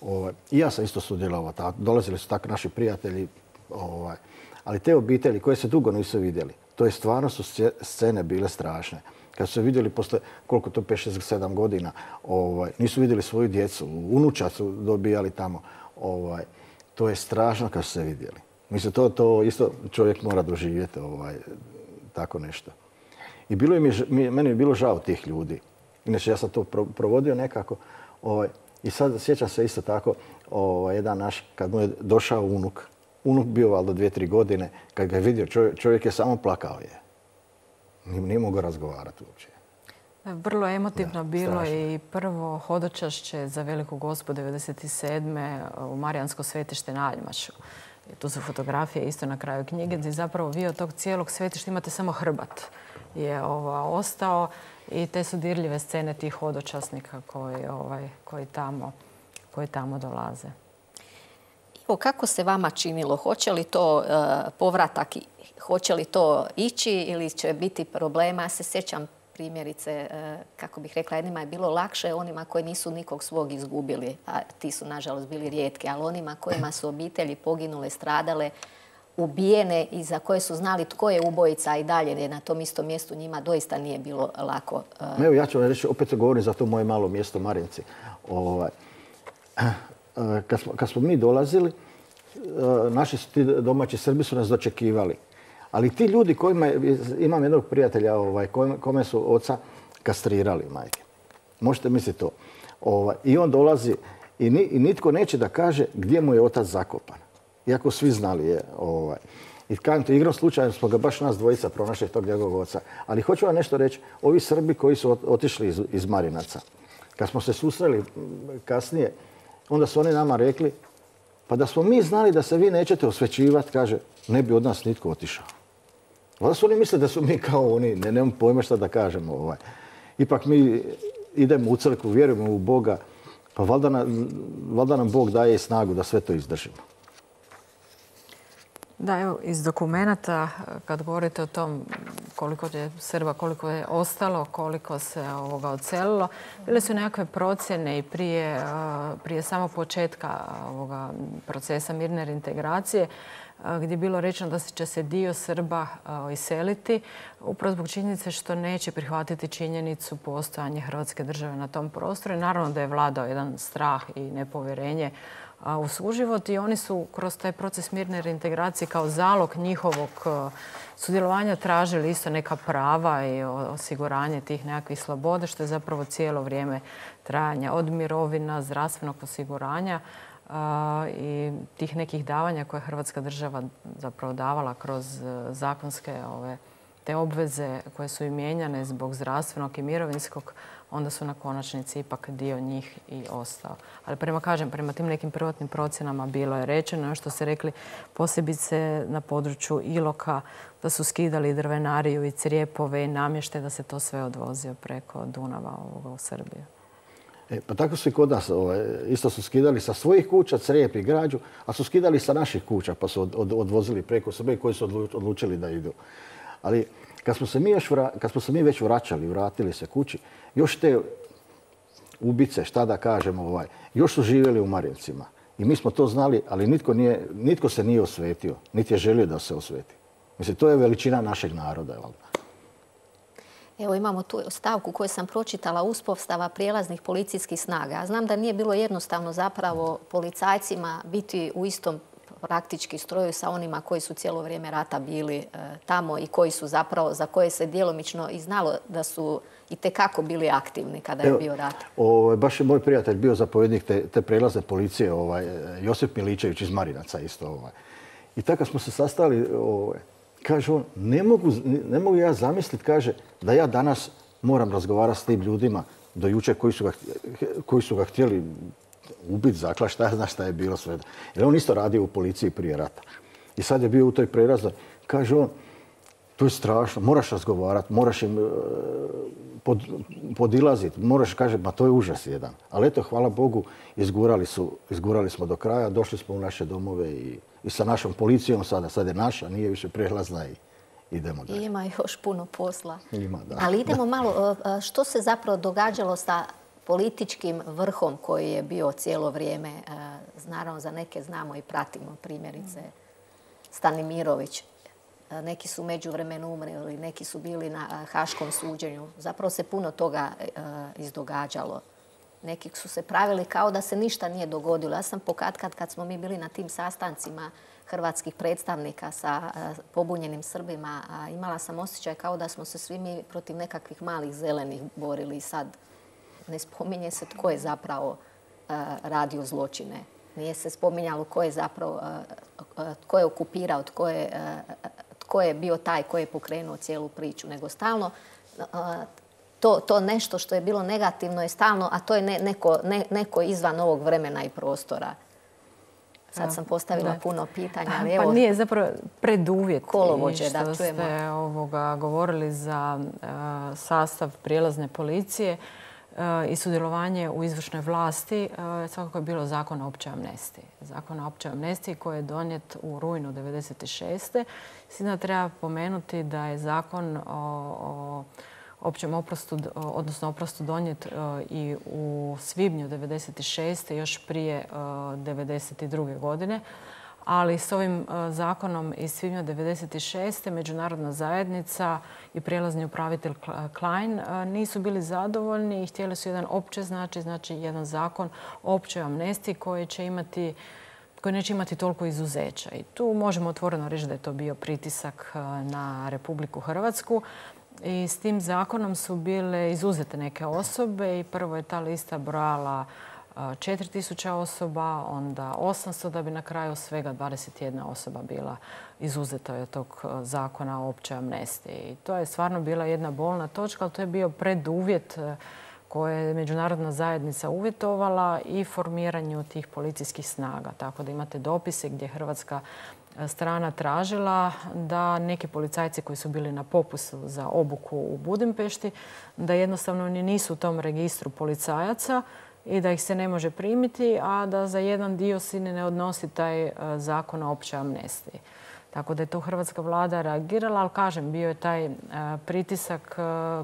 Speaker 3: Ovaj, I ja sam isto sudjelovao. Dolazili su tako naši prijatelji. Ovaj, ali te obitelji koje se dugo nisu vidjeli, to je stvarno su scene bile strašne. Kad su se vidjeli posle koliko to pet, šest, sedam godina, ovaj, nisu vidjeli svoju djecu, unuča su dobijali tamo. Ovaj, to je strašno kad su se vidjeli. Mislim, to, to isto čovjek mora doživjeti ovaj, tako nešto. I bilo mi, meni je bilo žao tih ljudi. Inače, ja sam to provodio nekako. Ovaj, I sad sjećam se isto tako, ovaj, jedan naš, kad mu je došao unuk, unuk bio valjda dvije, tri godine, kad ga je vidio, čovjek, čovjek je samo plakao je. Nije, nije mogao razgovarati uopće.
Speaker 2: Vrlo emotivno da, bilo strašno. I prvo hodočašće za Veliku Gospu devedeset sedme u Marijansko svetište na Aljmašu. I tu su fotografije isto na kraju knjige gdje zapravo vi od tog cijelog svetišta imate samo hrbat je ova, ostao. I te su dirljive scene tih hodočasnika koji, ovaj, koji, tamo, koji tamo dolaze.
Speaker 1: Ivo, kako se vama činilo? Hoće li to uh, povratak, hoće li to ići ili će biti problema? Ja se sjećam primjerice, uh, kako bih rekla, jednima je bilo lakše onima koji nisu nikog svog izgubili, a ti su nažalost bili rijetki, ali onima kojima su obitelji poginule, stradale, ubijene i za koje su znali tko je ubojica i dalje na tom istom mjestu, njima doista nije bilo lako.
Speaker 3: Evo, ja ću vam reći, opet govorim za to moje malo mjesto Marinci. Ovaj, kad, smo, kad smo mi dolazili, naši su ti domaći Srbi su nas dočekivali. Ali ti ljudi kojima, imam jednog prijatelja ovaj, kome su oca kastrirali, majke. Možete misliti to. Ovaj, I on dolazi i, ni, i nitko neće da kaže gdje mu je otac zakopan. Iako svi znali je. Ovaj. I kažem ti, igrom slučajno smo ga baš nas dvojica pronašli tog njegovog oca. Ali hoću vam nešto reći. Ovi Srbi koji su otišli iz, iz Marinaca, kad smo se susreli kasnije, onda su oni nama rekli, pa da smo mi znali da se vi nećete osvećivati, kaže, ne bi od nas nitko otišao. Onda su oni mislili da su mi kao oni, ne, nemam pojma šta da kažemo. Ovaj. Ipak mi idemo u crkvu, vjerujemo u Boga, pa valjda nam, valjda nam Bog daje snagu da sve to izdržimo.
Speaker 2: Da, evo, iz dokumenata, kad govorite o tom koliko je Srba, koliko je ostalo, koliko se ovoga odselilo, bile su nekakve procjene i prije, prije samog početka ovoga procesa mirne reintegracije, gdje je bilo rečeno da će se dio Srba iseliti, upravo zbog činjenice što neće prihvatiti činjenicu postojanja Hrvatske države na tom prostoru. I naravno da je vladao jedan strah i nepovjerenje u suživot i oni su kroz taj proces mirne reintegracije kao zalog njihovog sudjelovanja tražili isto neka prava i osiguranje tih nekakvih sloboda, što je zapravo cijelo vrijeme trajanja od mirovina, zdravstvenog osiguranja i tih nekih davanja koje je Hrvatska država zapravo davala kroz zakonske ove, te obveze koje su im mijenjane zbog zdravstvenog i mirovinskog, onda su na konačnici ipak dio njih i ostao. Ali prema, kažem, prema tim nekim prvotnim procjenama bilo je rečeno, što ste rekli, posebice na području Iloka, da su skidali drvenariju i crijepove i namještaj, da se to sve odvozio preko Dunava ovoga u Srbiju.
Speaker 3: E, pa tako su i kod nas. Ovaj, isto su skidali sa svojih kuća crijep i građu, a su skidali sa naših kuća pa su od, od, odvozili preko Srbije koji su odlučili da idu. Ali kad smo se mi, još vra, kad smo se mi već vraćali, vratili se kući, još te ubice, šta da kažemo, ovaj, još su živjeli u Marincima. I mi smo to znali, ali nitko, nije, nitko se nije osvetio, niti je želio da se osveti. Mislim, to je veličina našeg naroda. Valjda.
Speaker 1: Evo imamo tu stavku koju sam pročitala, uspostava prijelaznih policijskih snaga. Ja znam da nije bilo jednostavno zapravo policajcima biti u istom praktički stroju sa onima koji su cijelo vrijeme rata bili e, tamo i koji su zapravo, za koje se djelomično i znalo da su i tekako bili aktivni kada je Evo, bio rat.
Speaker 3: Ovaj, baš je moj prijatelj bio zapovjednik te, te prijelazne policije, ovaj, Josip Miličević iz Marinaca isto. Ovaj. I tako smo se sastali, ovaj, kaže on, ne mogu, ne mogu ja zamisliti, kaže, da ja danas moram razgovarati s tim ljudima do jučer koji su ga, koji su ga htjeli ubiti, zakla, šta ja zna šta je bilo sve. Jer on isto radio u policiji prije rata. I sad je bio u toj prelaznoj. Kaže on, to je strašno, moraš razgovarati, moraš im pod, podilaziti, moraš, kaže, ma to je užas jedan. Ali eto, hvala Bogu, izgurali, su, izgurali smo do kraja, došli smo u naše domove i, i sa našom policijom sada, sad je naša, nije više prelazna i idemo dalje.
Speaker 1: Ima još puno posla.
Speaker 3: Ima, da.
Speaker 1: Ali idemo malo, što se zapravo događalo sa političkim vrhom koji je bio cijelo vrijeme, naravno za neke znamo i pratimo, primjerice Stanimirović. Neki su međuvremenu umreli, neki su bili na haškom suđenju. Zapravo se puno toga izdogađalo. Neki su se pravili kao da se ništa nije dogodilo. Ja sam pokatkad kad smo mi bili na tim sastancima hrvatskih predstavnika sa pobunjenim Srbima, imala sam osjećaj kao da smo se svi mi protiv nekakvih malih zelenih borili i sad ne spominje se tko je zapravo uh, radio zločine. Nije se spominjalo tko je zapravo, uh, uh, tko je okupirao, tko je, uh, tko je bio taj koji je pokrenuo cijelu priču. Nego stalno uh, to, to nešto što je bilo negativno je stalno, a to je ne, neko, ne, neko izvan ovog vremena i prostora. Sad sam postavila da. puno pitanja. Ali
Speaker 2: pa
Speaker 1: evo,
Speaker 2: nije zapravo preduvjet
Speaker 1: kolovođe,
Speaker 2: što
Speaker 1: da čujemo.
Speaker 2: ste ovoga govorili za uh, sastav prijelazne policije i sudjelovanje u izvršnoj vlasti, svakako je bilo zakon o općoj amnestiji. Zakon o općoj amnestiji koji je donijet u rujnu devedeset šeste. Sada treba pomenuti da je zakon o, o općem oprostu, odnosno oprostu donijet i u svibnju devedeset šeste. još prije devedeset druge. godine. Ali s ovim zakonom iz svibnja devedeset šeste. međunarodna zajednica i prijelazni upravitelj Klein nisu bili zadovoljni i htjeli su jedan opće znači, znači jedan zakon o općoj amnestiji koji će imati koji neće imati toliko izuzeća. I tu možemo otvoreno reći da je to bio pritisak na Republiku Hrvatsku. I s tim zakonom su bile izuzete neke osobe i prvo je ta lista brojala četiri tisuće osoba, onda osamsto, da bi na kraju svega dvadeset jedna osoba bila izuzeta od tog zakona o općoj amnestiji. I to je stvarno bila jedna bolna točka, ali to je bio preduvjet koje je međunarodna zajednica uvjetovala i formiranju tih policijskih snaga. Tako da imate dopise gdje hrvatska strana tražila da neki policajci koji su bili na popustu za obuku u Budimpešti, da jednostavno oni nisu u tom registru policajaca i da ih se ne može primiti, a da za jedan dio se ne odnosi taj zakon o općoj amnestiji. Tako da je to hrvatska vlada reagirala, ali kažem, bio je taj pritisak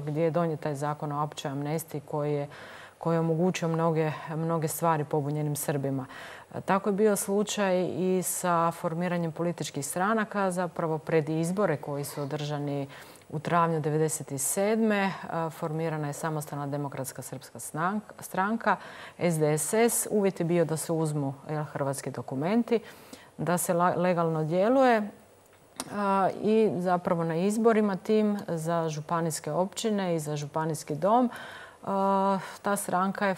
Speaker 2: gdje je donijet taj zakon o općoj amnestiji koji je koji je omogućio mnoge, mnoge stvari pobunjenim Srbima. Tako je bio slučaj i sa formiranjem političkih stranaka, zapravo pred izbore koji su održani u travnju devedeset sedme. Formirana je Samostalna demokratska srpska stranka, S D S S. Uvjet je bio da se uzmu hrvatski dokumenti, da se legalno djeluje i zapravo na izborima tim za županijske općine i za županijski dom ta stranka je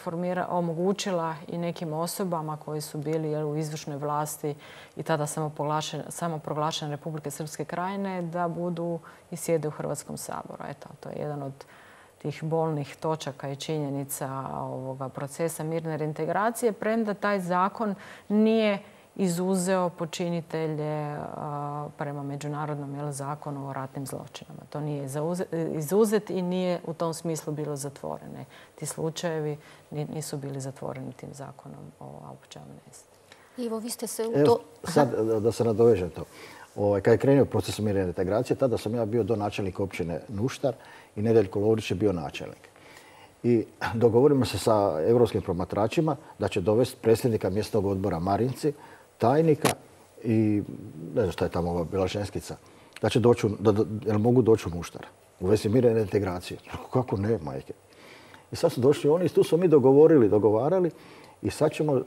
Speaker 2: omogućila i nekim osobama koji su bili u izvršnoj vlasti i tada samoproglašene Republike Srpske Krajine da budu i sjede u Hrvatskom saboru. Eto, to je jedan od tih bolnih točaka i činjenica ovoga procesa mirne reintegracije, premda taj zakon nije izuzeo počinitelje prema međunarodnom zakonu o ratnim zločinama. To nije izuzet i nije u tom smislu bilo zatvorene. Ti slučajevi nisu bili zatvoreni tim zakonom o općoj amnestiji.
Speaker 1: Ivo, vi ste se u to...
Speaker 3: Sad da se nadovežem to. Kad je krenuo proces mirne reintegracije, tada sam ja bio donačelnik općine Nuštar i Nedeljko Lovrić je bio načelnik. I dogovorimo se sa europskim promatračima da će dovesti predsjednika mjesnog odbora Marinci, tajnika i ne znam šta je tamo bila ženskica, da će doći, da mogu doći u Nuštar u vezi mirne reintegracije. Kako ne, majke? I sad su došli oni i tu smo mi dogovorili, dogovarali i sad ćemo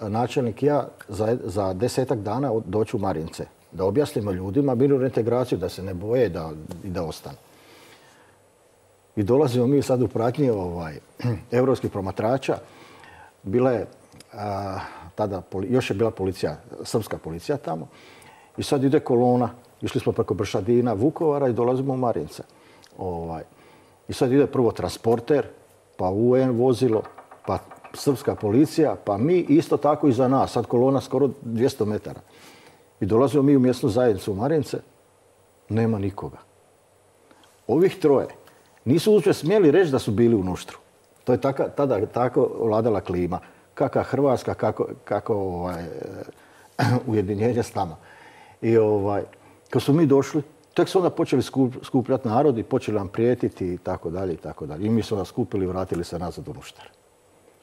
Speaker 3: načelnik i ja za, za desetak dana doći u Marince, da objasnimo ljudima mirnu reintegraciju, da se ne boje da, i da ostanu. I dolazimo mi sad u pratnji ovaj, europskih promatrača. Bila je a, tada, još je bila policija, srpska policija tamo. I sad ide kolona. Išli smo preko Bršadina, Vukovara i dolazimo u Marince. Ovaj. I sad ide prvo transporter, pa U N vozilo, pa srpska policija, pa mi isto tako iza nas. Sad kolona skoro dvjesto metara. I dolazimo mi u mjesnu zajednicu u Marince. Nema nikoga. Ovih troje nisu uopće smjeli reći da su bili u Nuštru. To je taka, tada tako vladala klima. Kakva Hrvatska, kako, kako ovaj, ujedinjenje s nama. I ovaj, kad su mi došli, tek su onda počeli skup, skupljati narod i počeli nam prijetiti i tako dalje i tako dalje. I mi su nas skupili i vratili se nazad u Nuštar.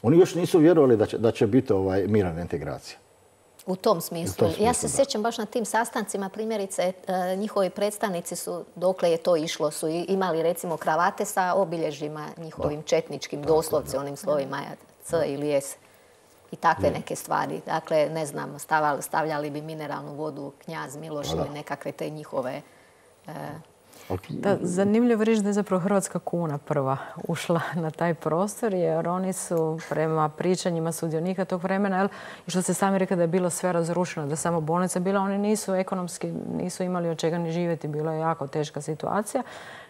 Speaker 3: Oni još nisu vjerovali da će, da će biti ovaj, mirna reintegracija.
Speaker 1: U tom smislu. U tom smislu ja se da. sjećam baš na tim sastancima, primjerice, njihovi predstavnici su, dokle je to išlo, su imali recimo kravate sa obilježjima njihovim da. četničkim, da, doslovce da. onim slovima C da. ili S. I takve ne. neke stvari. Dakle, ne znam, stavali, stavljali bi mineralnu vodu Knjaz Miloš ili nekakve te njihove... E,
Speaker 2: Da, zanimljivo reći da je zapravo hrvatska kuna prva ušla na taj prostor, jer oni su prema pričanjima sudionika tog vremena, jel, i što se sami rekli da je bilo sve razrušeno, da je samo bolnica bila, oni nisu ekonomski, nisu imali od čega ni živjeti, bila je jako teška situacija.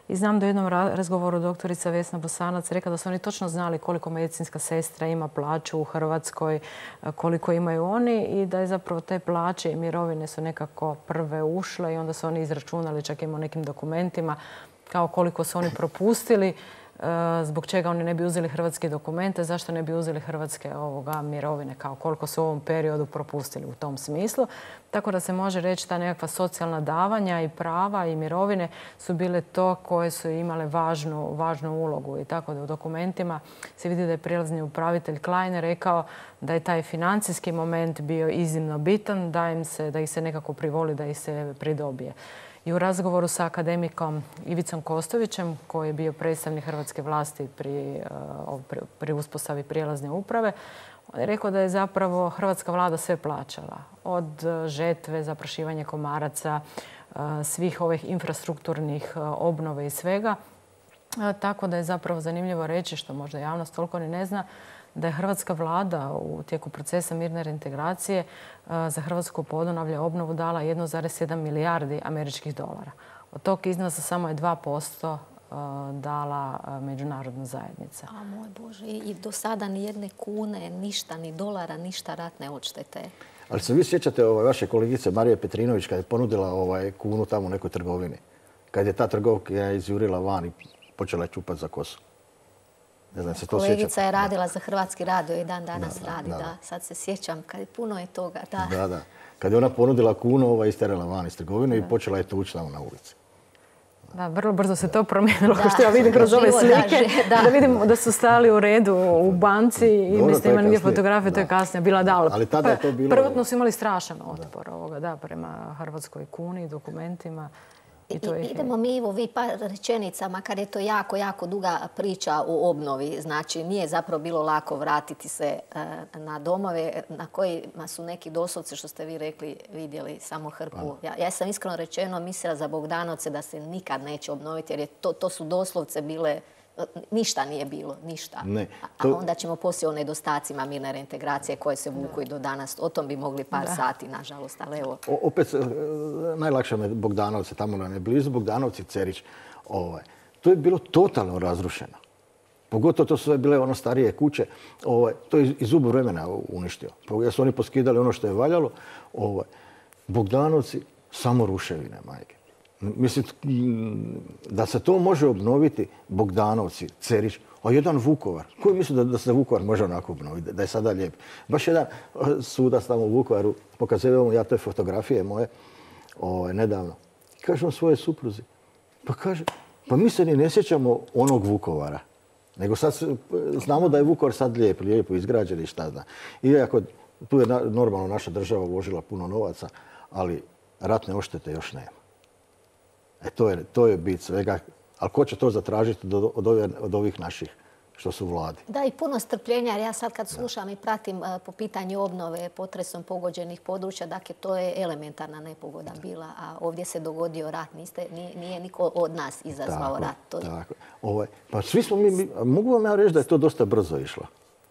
Speaker 2: I znam da u jednom razgovoru doktorica Vesna Bosanac rekla da su oni točno znali koliko medicinska sestra ima plaću u Hrvatskoj, koliko imaju oni i da je zapravo te plaće i mirovine su nekako prve ušle i onda su oni izračunali čak i u nekim dokumentima kao koliko su oni propustili, zbog čega oni ne bi uzeli hrvatske dokumente, zašto ne bi uzeli hrvatske ovoga mirovine, kao koliko su u ovom periodu propustili u tom smislu. Tako da se može reći da nekakva socijalna davanja i prava i mirovine su bile to koje su imale važnu, važnu ulogu. I tako da u dokumentima se vidi da je prijelazni upravitelj Klein rekao da je taj financijski moment bio iznimno bitan, da, im se, da ih se nekako privoli, da ih se pridobije. I u razgovoru sa akademikom Ivicom Kostovićem, koji je bio predstavnik hrvatske vlasti pri, pri, pri uspostavi prijelazne uprave, on je rekao da je zapravo hrvatska vlada sve plaćala. Od žetve, zaprašivanja komaraca, svih ovih infrastrukturnih obnove i svega. Tako da je zapravo zanimljivo reći, što možda javnost toliko ni ne zna, da je hrvatska vlada u tijeku procesa mirne reintegracije za Hrvatsku Podunavlje obnovu dala jedan zarez sedam milijardi američkih dolara. Od tog iznosa samo je dva posto dala međunarodna zajednica.
Speaker 1: A moj Bože, i do sada ni jedne kune, ništa, ni dolara, ništa ratne odštete.
Speaker 3: Ali se vi sjećate ovaj, vaše kolegice Marije Petrinović kad je ponudila ovaj, kunu tamo u nekoj trgovini? Kad je ta trgovka izjurila van i počela je čupati za kosu. Ne znam, se to
Speaker 1: Kolegica
Speaker 3: sjećate?
Speaker 1: je radila za Hrvatski radio i dan danas
Speaker 3: da, da,
Speaker 1: radi.
Speaker 3: da, da.
Speaker 1: Da. Sad se sjećam, kad je puno je toga. Da,
Speaker 3: da. da. Kad je ona ponudila kunu, ova isterala van iz trgovine i počela je tući tamo na ulici.
Speaker 2: Da, vrlo brzo se to promijenilo, kao što ja vidim kroz ove slike, da vidimo da su stali u redu u banci i mislim ima nigdje fotografije, to je kasnije bila da, ali prvotno su imali strašan otpor ovoga, da, prema hrvatskoj kuni i dokumentima.
Speaker 1: Idemo mi, Ivo, vi par rečenica, makar je to jako, jako duga priča o obnovi. Znači, nije zapravo bilo lako vratiti se na domove na kojima su neki doslovce, što ste vi rekli, vidjeli samo hrpu. Ja sam iskreno rečeno mislila za Bogdanovce da se nikad neće obnoviti, jer to su doslovce bile... Ništa nije bilo, ništa. A onda ćemo poslije o nedostacima mirne reintegracije koje se vuku i do danas. O tom bi mogli par sati, nažalost, ali evo.
Speaker 3: Opet, najlakše me Bogdanovce, tamo nam je blizu, Bogdanovci, Cerić. To je bilo totalno razrušeno. Pogotovo to su sve bile ono starije kuće. To je iz zubu vremena uništio. Jer su oni poskidali ono što je valjalo. Bogdanovci, samo ruševine, majke. Mislim, da se to može obnoviti, Bogdanovci, Cerić, a jedan Vukovar. Ko misli da se Vukovar može onako obnoviti, da je sada lijep? Baš jedan sudac tamo u Vukovaru, pokazivao ja te fotografije moje nedavno. Kažem svojoj supruzi, pa kaže, pa mi se ni ne sjećamo onog Vukovara. Nego sad znamo da je Vukovar sad lijep, lijepo izgrađen i šta zna. Iako tu je normalno naša država uložila puno novaca, ali ratne oštete još nema. E, to je, to je bit svega. Ali ko će to zatražiti od, ove, od ovih naših što su u vladi?
Speaker 1: Da, i puno strpljenja, jer ja sad kad slušam i pratim po pitanju obnove potresom pogođenih područja, dakle, to je elementarna nepogoda bila, a ovdje se dogodio rat. Niste, nije, nije niko od nas izazvao
Speaker 3: tako,
Speaker 1: rat. To...
Speaker 3: Tako. Ovaj, pa svi smo mi, mi, mogu vam ja reći da je to dosta brzo išlo.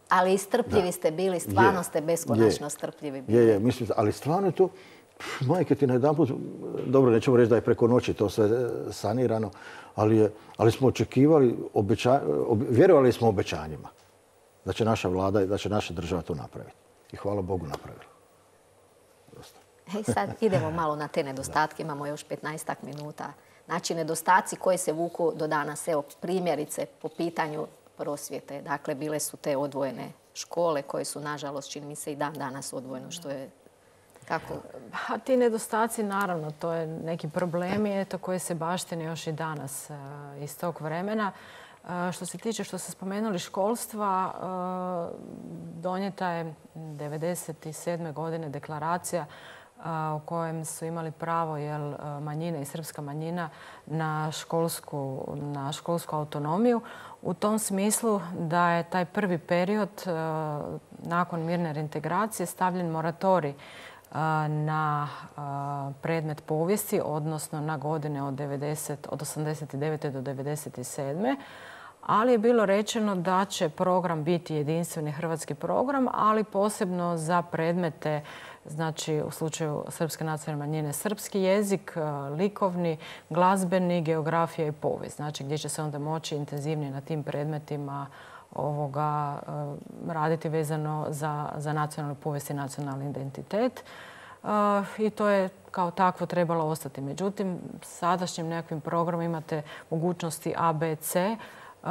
Speaker 1: Ali strpljivi ste bili, stvarno je, ste beskonačno je, strpljivi bili.
Speaker 3: Je, je, mislim, ali stvarno je to... Majke ti na jedan put, dobro, nećemo reći da je preko noći to sve sanirano, ali, je, ali smo očekivali, obeća, ob, vjerovali smo obećanjima da će naša vlada i da će naša država to napraviti. I hvala Bogu napravila.
Speaker 1: I sad idemo malo na te nedostatke, imamo još petnaestak minuta. Znači, nedostaci koji se vuku do danas, evo primjerice po pitanju prosvjete. Dakle, bile su te odvojene škole koje su, nažalost, čini mi se i dan danas odvojeno, što je kako?
Speaker 2: A ti nedostaci, naravno, to je neki problemi eto, koji se baštine još i danas uh, iz tog vremena. Uh, što se tiče, što ste spomenuli, školstva, uh, donijeta je devedeset sedme godine deklaracija uh, u kojem su imali pravo jel, manjine i srpska manjina na školsku, na školsku autonomiju. U tom smislu da je taj prvi period uh, nakon mirne reintegracije stavljen moratorij na predmet povijesti, odnosno na godine od, devedeset, od osamdeset devete do devedeset sedme ali je bilo rečeno da će program biti jedinstveni hrvatski program, ali posebno za predmete, znači u slučaju srpske nacionalne manjine srpski jezik, likovni, glazbeni, geografija i povijest. Znači gdje će se onda moći intenzivnije na tim predmetima ovoga, raditi vezano za, za nacionalnu povijest i nacionalni identitet. Uh, I to je kao takvo trebalo ostati. Međutim, sadašnjim nekakvim programom imate mogućnosti A, B, C. Uh,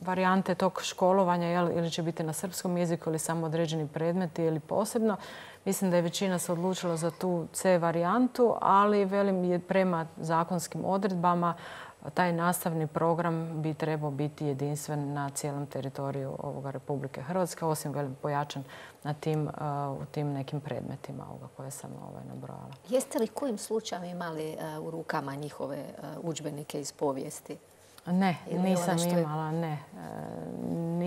Speaker 2: varijante tog školovanja jel, ili će biti na srpskom jeziku ili samo određeni predmeti ili posebno. Mislim da je većina se odlučila za tu C varijantu, ali velim je prema zakonskim odredbama taj nastavni program bi trebao biti jedinstven na cijelom teritoriju ovoga Republike Hrvatske, osim velim pojačan na tim, uh, u tim nekim predmetima ovoga koje sam ovaj, nabrojala.
Speaker 1: Jeste li kojim slučajem imali uh, u rukama njihove uh, udžbenike iz povijesti?
Speaker 2: Ne, nisam imala, ne.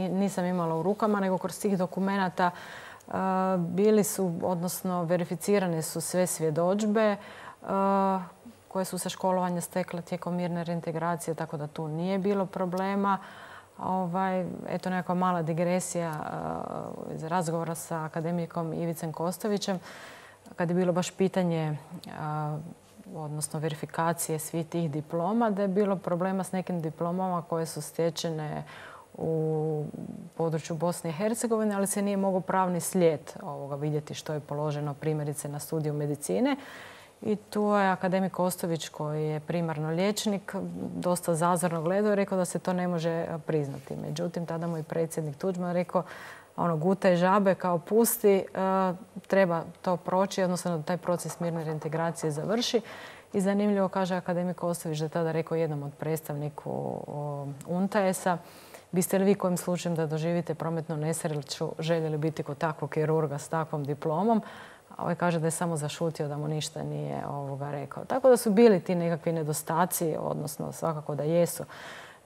Speaker 2: Nisam imala u rukama, nego kroz tih dokumenata uh, bili su, odnosno verificirane su sve svjedodžbe uh, koje su se školovanje stekle tijekom mirne reintegracije, tako da tu nije bilo problema. Ovaj, eto nekakva mala digresija uh, iz razgovora sa akademikom Ivicem Kostovićem, kad je bilo baš pitanje uh, odnosno verifikacije svih tih diploma, da je bilo problema s nekim diplomama koje su stečene u području Bosne i Hercegovine, ali se nije mogao pravni slijed ovoga vidjeti što je položeno primjerice na studiju medicine. I tu je akademik Kostović, koji je primarno liječnik, dosta zazorno gledao i rekao da se to ne može priznati. Međutim, tada mu i predsjednik Tuđman rekao ono, gutaj žabe kao pusti, treba to proći, odnosno da taj proces mirne reintegracije završi. I zanimljivo, kaže akademik Ostojić, da je tada rekao jednom od predstavniku U N T A E S-a: biste li vi kojim slučajem da doživite prometnu nesreću željeli biti kod takvog kirurga s takvom diplomom? A ovaj kaže da je samo zašutio, da mu ništa nije ovoga rekao. Tako da su bili ti nekakvi nedostaci, odnosno svakako da jesu.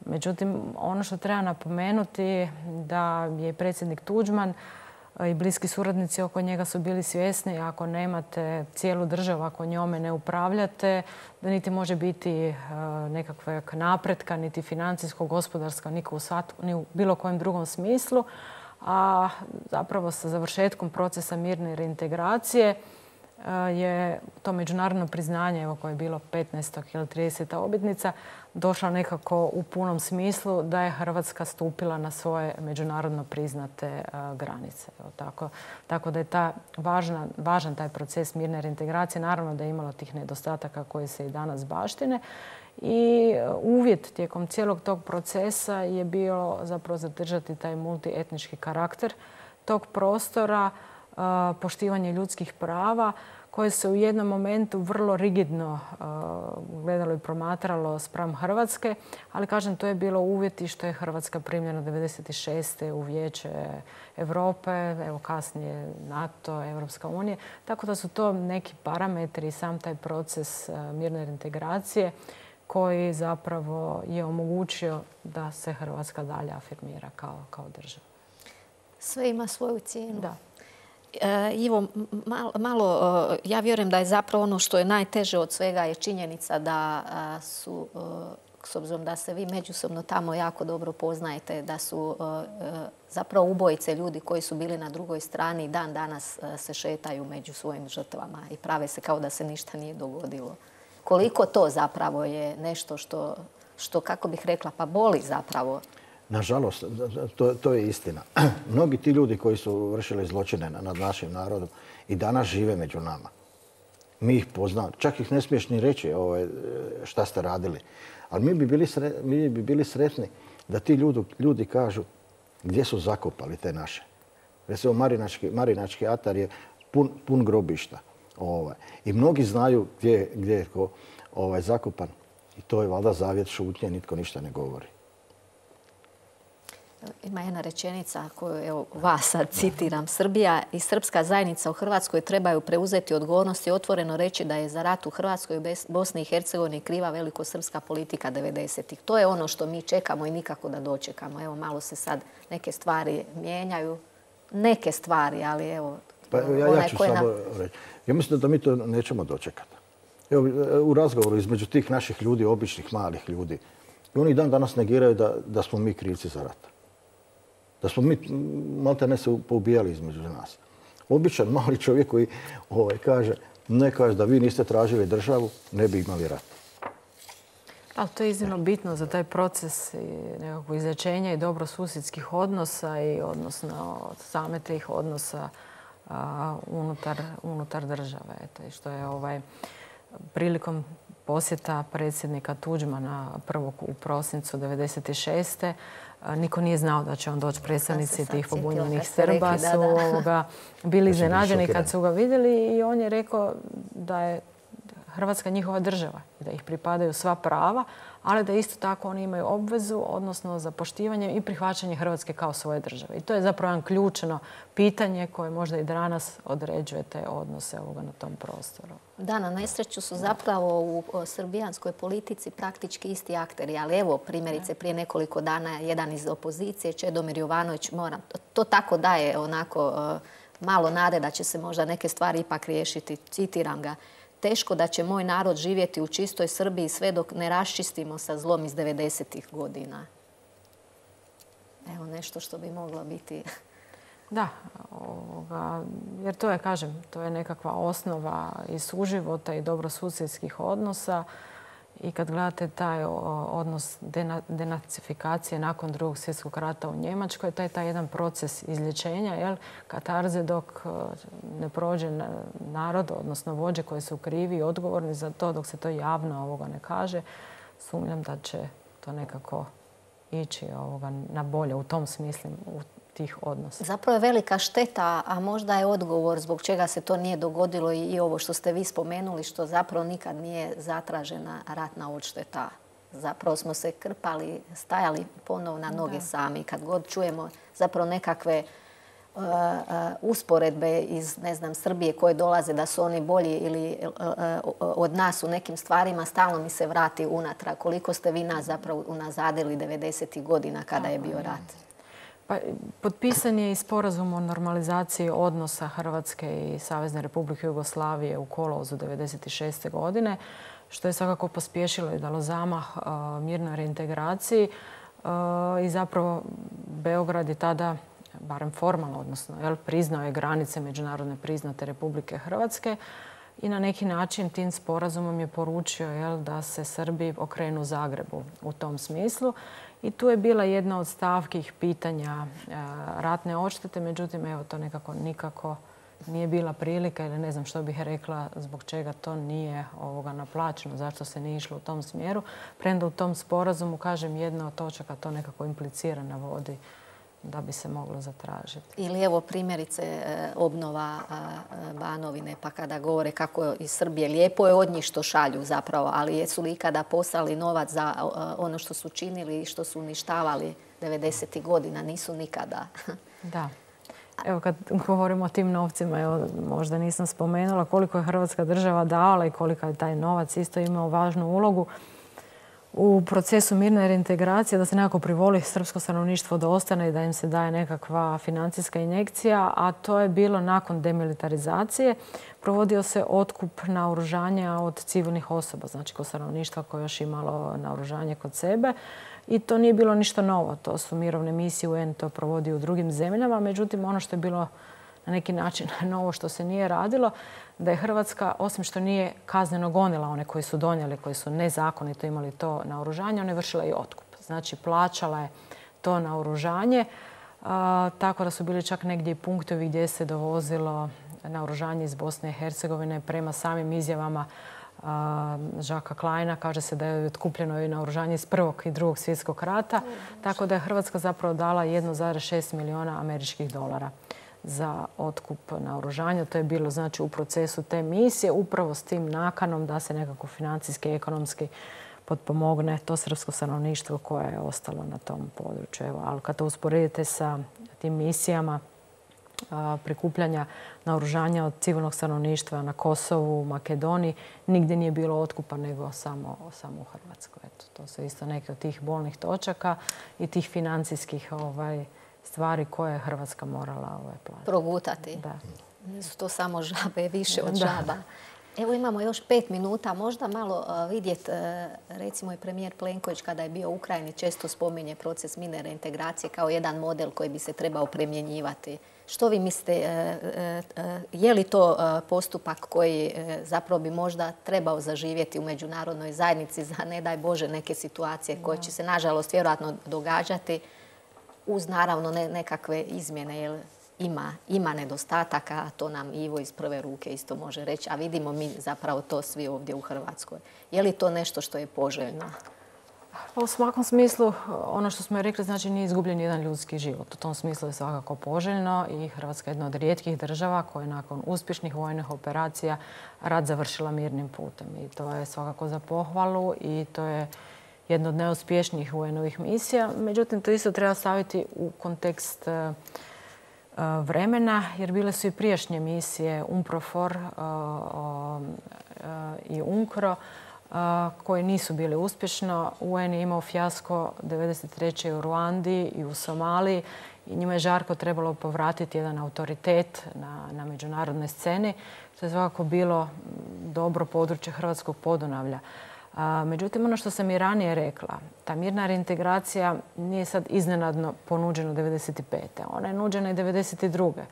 Speaker 2: Međutim, ono što treba napomenuti da je predsjednik Tuđman i bliski suradnici oko njega su bili svjesni, ako nemate cijelu državu, ako njome ne upravljate, da niti može biti nekakvog napretka, niti financijskog, gospodarskog, ni u bilo kojem drugom smislu. A zapravo sa završetkom procesa mirne reintegracije je to međunarodno priznanje, evo koje je bilo petnaesta ili trideseta obljetnica, došlo nekako u punom smislu da je Hrvatska stupila na svoje međunarodno priznate granice. Evo, tako, tako da je ta važna, važan taj proces mirne reintegracije. Naravno da je imalo tih nedostataka koji se i danas baštine. I uvjet tijekom cijelog tog procesa je bio zapravo zadržati taj multietnički karakter tog prostora, poštivanje ljudskih prava koje se u jednom momentu vrlo rigidno gledalo i promatralo spram Hrvatske, ali kažem, to je bilo uvjet i što je Hrvatska primljena devedeset šeste u Vijeće Europe, evo kasnije NATO, Europska unija. Tako da su to neki parametri i sam taj proces mirne reintegracije koji zapravo je omogućio da se Hrvatska dalje afirmira kao, kao država.
Speaker 1: Sve ima svoju cijenu.
Speaker 2: Da.
Speaker 1: Ivo, malo, malo, ja vjerujem da je zapravo ono što je najteže od svega je činjenica da su, s obzirom da se vi međusobno tamo jako dobro poznajete, da su zapravo ubojice ljudi koji su bili na drugoj strani dan danas se šetaju među svojim žrtvama i prave se kao da se ništa nije dogodilo. Koliko to zapravo je nešto što, što kako bih rekla, pa boli zapravo?
Speaker 3: Nažalost, to, to je istina. Mnogi ti ljudi koji su vršili zločine nad našim narodom i danas žive među nama. Mi ih poznamo. Čak ih ne smiješ ni reći ovaj, šta ste radili. Ali mi bi bili, sre, mi bi bili sretni da ti ljudi, ljudi kažu gdje su zakopali te naše. Recimo, Marinački, Marinački atar je pun, pun grobišta. Ovaj. I mnogi znaju gdje, gdje je ko, ovaj, zakopan. I to je valjda zavjet šutnje, nitko ništa ne govori.
Speaker 1: Ima jedna rečenica koju evo, vas sad citiram. Srbija i srpska zajednica u Hrvatskoj trebaju preuzeti odgovornost i otvoreno reći da je za rat u Hrvatskoj i Bosni i Hercegovini kriva velikosrpska politika devedesetih. To je ono što mi čekamo i nikako da dočekamo. Evo, malo se sad neke stvari mijenjaju. Neke stvari, ali evo...
Speaker 3: Pa, ja, ja ću samo na... reći. Ja mislim da mi to nećemo dočekati. Evo, u razgovoru između tih naših ljudi, običnih malih ljudi, i oni dan danas negiraju da, da smo mi krivci za rat. Da smo mi malte ne se poubijali između nas. Običan mali čovjek koji ovaj, kaže, ne kaže da vi niste tražili državu, ne bi imali rat.
Speaker 2: Ali to je iznimno bitno za taj proces nekakvog izlječenja i dobrosusjedskih odnosa i odnosno same tih odnosa a, unutar, unutar države. Eto, i što je ovaj, prilikom posjeta predsjednika Tuđmana prvog u prosincu devedeset šeste niko nije znao da će on doći. Predstavnici tih pobunjenih Srba su ovoga, bili iznenađeni kad su ga vidjeli i on je rekao da je Hrvatska njihova država, da ih pripadaju sva prava, ali da isto tako oni imaju obvezu, odnosno za poštivanje i prihvaćanje Hrvatske kao svoje države. I to je zapravo jedan ključno pitanje koje možda i danas određuje te odnose ovoga na tom prostoru.
Speaker 1: Da, na nesreću su zapravo u srbijanskoj politici praktički isti akteri, ali evo primjerice prije nekoliko dana jedan iz opozicije, Čedomir Jovanović, moram, to tako daje onako malo nade da će se možda neke stvari ipak riješiti. Citiram ga. Teško da će moj narod živjeti u čistoj Srbiji sve dok ne raščistimo sa zlom iz devedesetih godina. Evo nešto što bi moglo biti...
Speaker 2: Da, ovoga, jer to je, kažem, to je nekakva osnova i suživota i dobrosusjedskih odnosa. I kad gledate taj odnos denacifikacije nakon drugog svjetskog rata u Njemačkoj, taj taj jedan proces izlječenja, jel, katarze dok ne prođe narod, odnosno vođe koji su krivi i odgovorni za to, dok se to javno ovoga ne kaže, sumnjam da će to nekako ići ovoga na bolje u tom smislu, u tih odnosa.
Speaker 1: Zapravo je velika šteta, a možda je odgovor zbog čega se to nije dogodilo i ovo što ste vi spomenuli, što zapravo nikad nije zatražena ratna odšteta. Zapravo smo se krpali, stajali ponovo na noge sami. Kad god čujemo zapravo nekakve uh, uh, usporedbe iz, ne znam, Srbije koje dolaze da su oni bolji ili uh, uh, od nas u nekim stvarima, stalno mi se vrati unatrag. Koliko ste vi nas zapravo unazadili devedesetih godina kada je bio rat?
Speaker 2: Pa, potpisan je i sporazum o normalizaciji odnosa Hrvatske i Savezne Republike Jugoslavije u kolovozu devedeset šeste. godine, što je svakako pospješilo i dalo zamah uh, mirnoj reintegraciji uh, i zapravo Beograd je tada, barem formalno, odnosno jel, priznao je granice međunarodne priznate Republike Hrvatske i na neki način tim sporazumom je poručio jel, da se Srbi okrenu Zagrebu u tom smislu. I tu je bila jedna od stavkih pitanja uh, ratne odštete, međutim, evo, to nekako nikako nije bila prilika ili ne znam što bih rekla zbog čega to nije ovoga naplaćeno, zašto se nije išlo u tom smjeru. Premda u tom sporazumu, kažem, jedna od točaka to nekako implicira, navodi da bi se moglo zatražiti.
Speaker 1: Ili evo primjerice obnova Banovine, pa kada govore kako iz Srbije lijepo je od njih što šalju zapravo, ali jesu li ikada poslali novac za ono što su činili i što su uništavali devedesetih godina? Nisu nikada.
Speaker 2: Da. Evo kad govorimo o tim novcima, evo, možda nisam spomenula koliko je Hrvatska država davala i koliko je taj novac isto imao važnu ulogu u procesu mirne reintegracije, da se nekako privoli srpsko stanovništvo da ostane i da im se daje nekakva financijska injekcija, a to je bilo nakon demilitarizacije. Provodio se otkup naoružanja od civilnih osoba, znači kod stanovništva koje još imalo naoružanje kod sebe. I to nije bilo ništa novo. To su mirovne misije, U N to provodi u drugim zemljama. Međutim, ono što je bilo na neki način novo što se nije radilo, da je Hrvatska, osim što nije kazneno gonila one koji su donijeli, koji su nezakonito imali to naoružanje, ona je vršila i otkup. Znači, plaćala je to naoružanje, a, tako da su bili čak negdje i punktovi gdje se dovozilo naoružanje iz Bosne i Hercegovine prema samim izjavama Žaka Kleina. Kaže se da je otkupljeno i naoružanje iz Prvog i Drugog svjetskog rata, tako da je Hrvatska zapravo dala jedan zarez šest milijuna američkih dolara za otkup naoružanja. To je bilo znači u procesu te misije, upravo s tim nakanom da se nekako financijski i ekonomski potpomogne to srpsko stanovništvo koje je ostalo na tom području. Evo, ali kad to usporedite sa tim misijama prikupljanja naoružanja od civilnog stanovništva na Kosovu, Makedoniji, nigdje nije bilo otkupa nego samo, samo u Hrvatskoj. Eto, to su isto neke od tih bolnih točaka i tih financijskih ovaj, stvari koje je Hrvatska morala ovaj, platiti.
Speaker 1: Progutati.
Speaker 2: Da.
Speaker 1: Nisu to samo žabe, više od žaba. Evo imamo još pet minuta, možda malo vidjeti, recimo i premijer Plenković kada je bio u Ukrajini često spominje proces mirne reintegracije kao jedan model koji bi se trebao primjenjivati. Što vi mislite, je li to postupak koji zapravo bi možda trebao zaživjeti u međunarodnoj zajednici za, ne daj Bože, neke situacije koje će se nažalost vjerojatno događati uz naravno nekakve izmjene, jer ima, ima nedostataka, a to nam Ivo iz prve ruke isto može reći, a vidimo mi zapravo to svi ovdje u Hrvatskoj. Je li to nešto što je poželjno?
Speaker 2: Pa u svakom smislu, ono što smo rekli, znači nije izgubljen jedan ljudski život. U tom smislu je svakako poželjno i Hrvatska je jedna od rijetkih država koja je nakon uspješnih vojnih operacija rat završila mirnim putem. I to je svakako za pohvalu i to je jedna od najuspješnijih vojnovih misija. Međutim, to isto treba staviti u kontekst vremena, jer bile su i prijašnje misije UNPROFOR i UNKRO koje nisu bile uspješno. U N je imao fijasko devedeset treće u Ruandi i u Somaliji i njima je žarko trebalo povratiti jedan autoritet na, na međunarodnoj sceni, što je svakako bilo dobro područje Hrvatskog Podunavlja. A, međutim, ono što sam i ranije rekla, ta mirna reintegracija nije sad iznenadno ponuđena devedeset pete. Ona je nuđena i devedeset druge.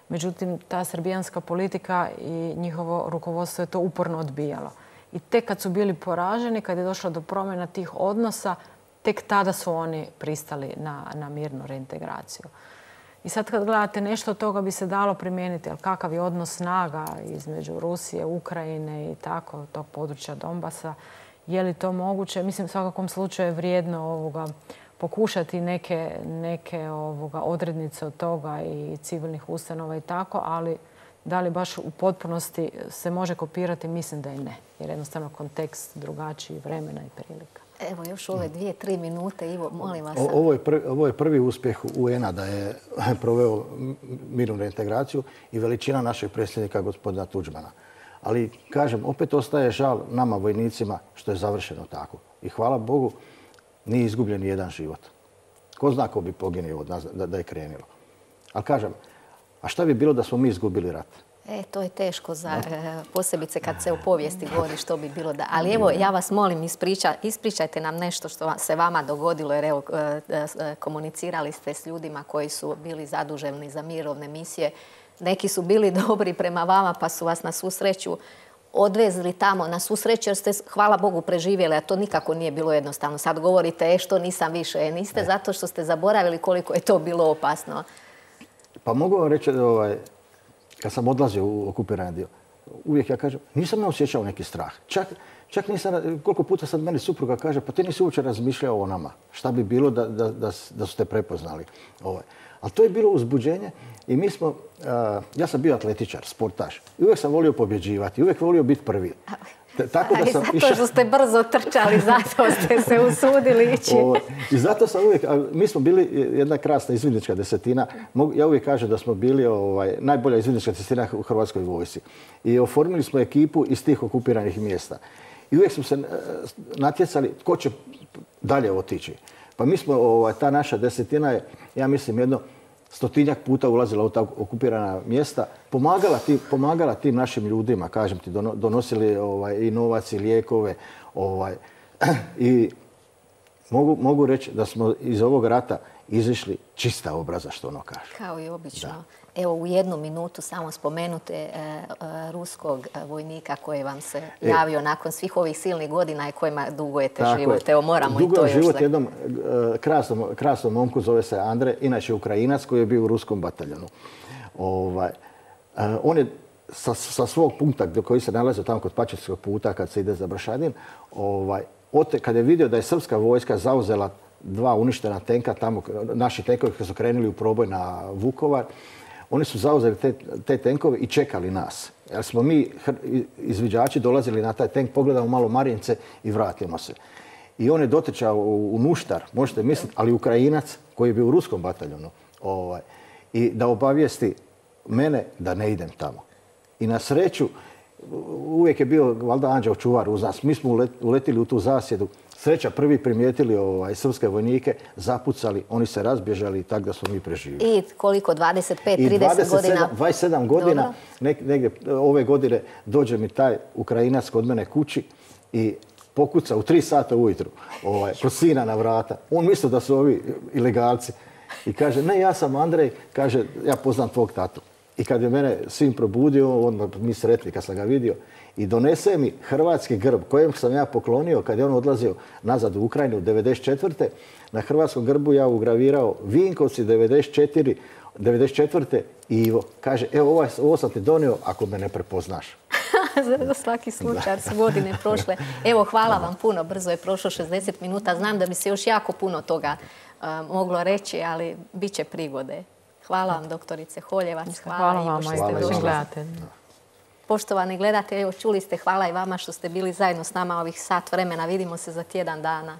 Speaker 2: Međutim, ta srbijanska politika i njihovo rukovodstvo je to uporno odbijalo. I tek kad su bili poraženi, kad je došlo do promjena tih odnosa, tek tada su oni pristali na, na mirnu reintegraciju. I sad kad gledate, nešto od toga bi se dalo primijeniti, ali kakav je odnos snaga između Rusije, Ukrajine i tako, tog područja Donbasa, je li to moguće? Mislim, u svakakvom slučaju je vrijedno ovoga pokušati neke, neke ovoga, odrednice od toga i civilnih ustanova i tako, ali da li baš u potpunosti se može kopirati, mislim da i ne. Jer jednostavno kontekst drugačiji, vremena i prilika.
Speaker 1: Evo još ove dvije, tri minute. Ivo, molim vas.
Speaker 3: Ovo je prvi, ovo je prvi uspjeh U N-a da je proveo mirnu reintegraciju i veličina našeg predsjednika gospodina Tuđmana. Ali, kažem, opet ostaje žal nama vojnicima što je završeno tako. I hvala Bogu, nije izgubljen ni jedan život. Ko zna ko bi poginio od nas da, da je krenilo. Ali kažem, a šta bi bilo da smo mi izgubili rat?
Speaker 1: E, to je teško, za, posebice kad se u povijesti govori što bi bilo da... Ali evo, ja vas molim, ispriča, ispričajte nam nešto što se vama dogodilo, jer evo, komunicirali ste s ljudima koji su bili zaduženi za mirovne misije. Neki su bili dobri prema vama, pa su vas na svu sreću odvezli tamo na svu sreću, jer ste, hvala Bogu, preživjeli, a to nikako nije bilo jednostavno. Sad govorite, e, što nisam više, e, niste, e. zato što ste zaboravili koliko je to bilo opasno.
Speaker 3: Pa mogu vam reći, ovaj, kad sam odlazio u okupirani dio, uvijek ja kažem, nisam ne osjećao neki strah. Čak, čak nisam, koliko puta sad meni supruga kaže, pa ti nisi uopće razmišljao o nama. Šta bi bilo da, da, da, da su te prepoznali. Ovaj. Ali to je bilo uzbuđenje i mi smo, uh, ja sam bio atletičar, sportaš. I uvijek sam volio pobjeđivati, uvijek volio biti prvi.
Speaker 1: Tako da sam zato iša... što ste brzo trčali, zato ste se usudili ići. O,
Speaker 3: I zato sam uvijek, mi smo bili jedna krasna izvidnička desetina. Ja uvijek kažem da smo bili ovaj, najbolja izvidnička desetina u Hrvatskoj vojsci. I oformili smo ekipu iz tih okupiranih mjesta. I uvijek smo se natjecali tko će dalje otići. Pa mi smo, ovaj, ta naša desetina je, ja mislim, jedno stotinjak puta ulazila u ta okupirana mjesta, pomagala tim, pomagala tim našim ljudima, kažem ti, donosili ovaj, i novac i lijekove. Ovaj, I mogu, mogu reći da smo iz ovog rata izišli čista obraza, što ono kaže.
Speaker 1: Kao i obično. Da. Evo, u jednu minutu samo spomenute e, e, ruskog vojnika koji vam se e, javio nakon svih ovih silnih godina i kojima dugujete život. Evo, moramo i to još...
Speaker 3: život jednom e, krasnom, krasnom momku, zove se Andre, inače Ukrajinac koji je bio u ruskom bataljonu. Ovaj, e, on je sa, sa svog punkta koji se nalazi tamo kod Pačetskog puta kad se ide za Bršadin, ovaj, ote, kad je vidio da je srpska vojska zauzela dva uništena tenka tamo, naši tenkovi koji su krenuli u proboj na Vukovar, oni su zauzeli te, te tenkove i čekali nas. Jer smo mi, izviđači, dolazili na taj tenk, pogledamo malo Marince i vratimo se. I on je dotrčao u, u Nuštar, možete misliti, ali Ukrajinac koji je bio u ruskom bataljonu. Ovaj, i da obavijesti mene da ne idem tamo. I na sreću, uvijek je bio valjda anđeo čuvar uz nas. Mi smo uletili u tu zasjedu. Sreća, prvi primijetili ovaj, srpske vojnike, zapucali, oni se razbježali i tako da smo mi preživjeli.
Speaker 1: I koliko, dvadeset pet, trideset godina?
Speaker 3: dvadeset sedam godina, nek, negdje ove godine dođe mi taj Ukrajinac kod mene kući i pokuca u tri sata ujutru ovaj, kod sina na vrata. On misli da su ovi ilegalci i kaže, ne, ja sam Andrej, kaže, ja poznam tvog tatu. I kad je mene sin probudio, on mi sretli kad sam ga vidio, i donese mi hrvatski grb kojem sam ja poklonio kad je on odlazio nazad u Ukrajinu devedeset četvrte. Na hrvatskom grbu ja ugravirao Vinkovci devedeset četiri, devedeset četvrte i Ivo. Kaže, evo ovo, ovo sam ti donio ako me ne prepoznaš.
Speaker 1: Za svaki slučaj su godine prošle. Evo, hvala vam puno. Brzo je prošlo šezdeset minuta. Znam da bi se još jako puno toga uh, moglo reći, ali bit će prigode. Hvala vam, doktorice Holjevac.
Speaker 2: Hvala, hvala vam, što ste došli. Gledatelji.
Speaker 1: Poštovani gledatelji, evo čuli ste, hvala i vama što ste bili zajedno s nama ovih sat vremena. Vidimo se za tjedan dana.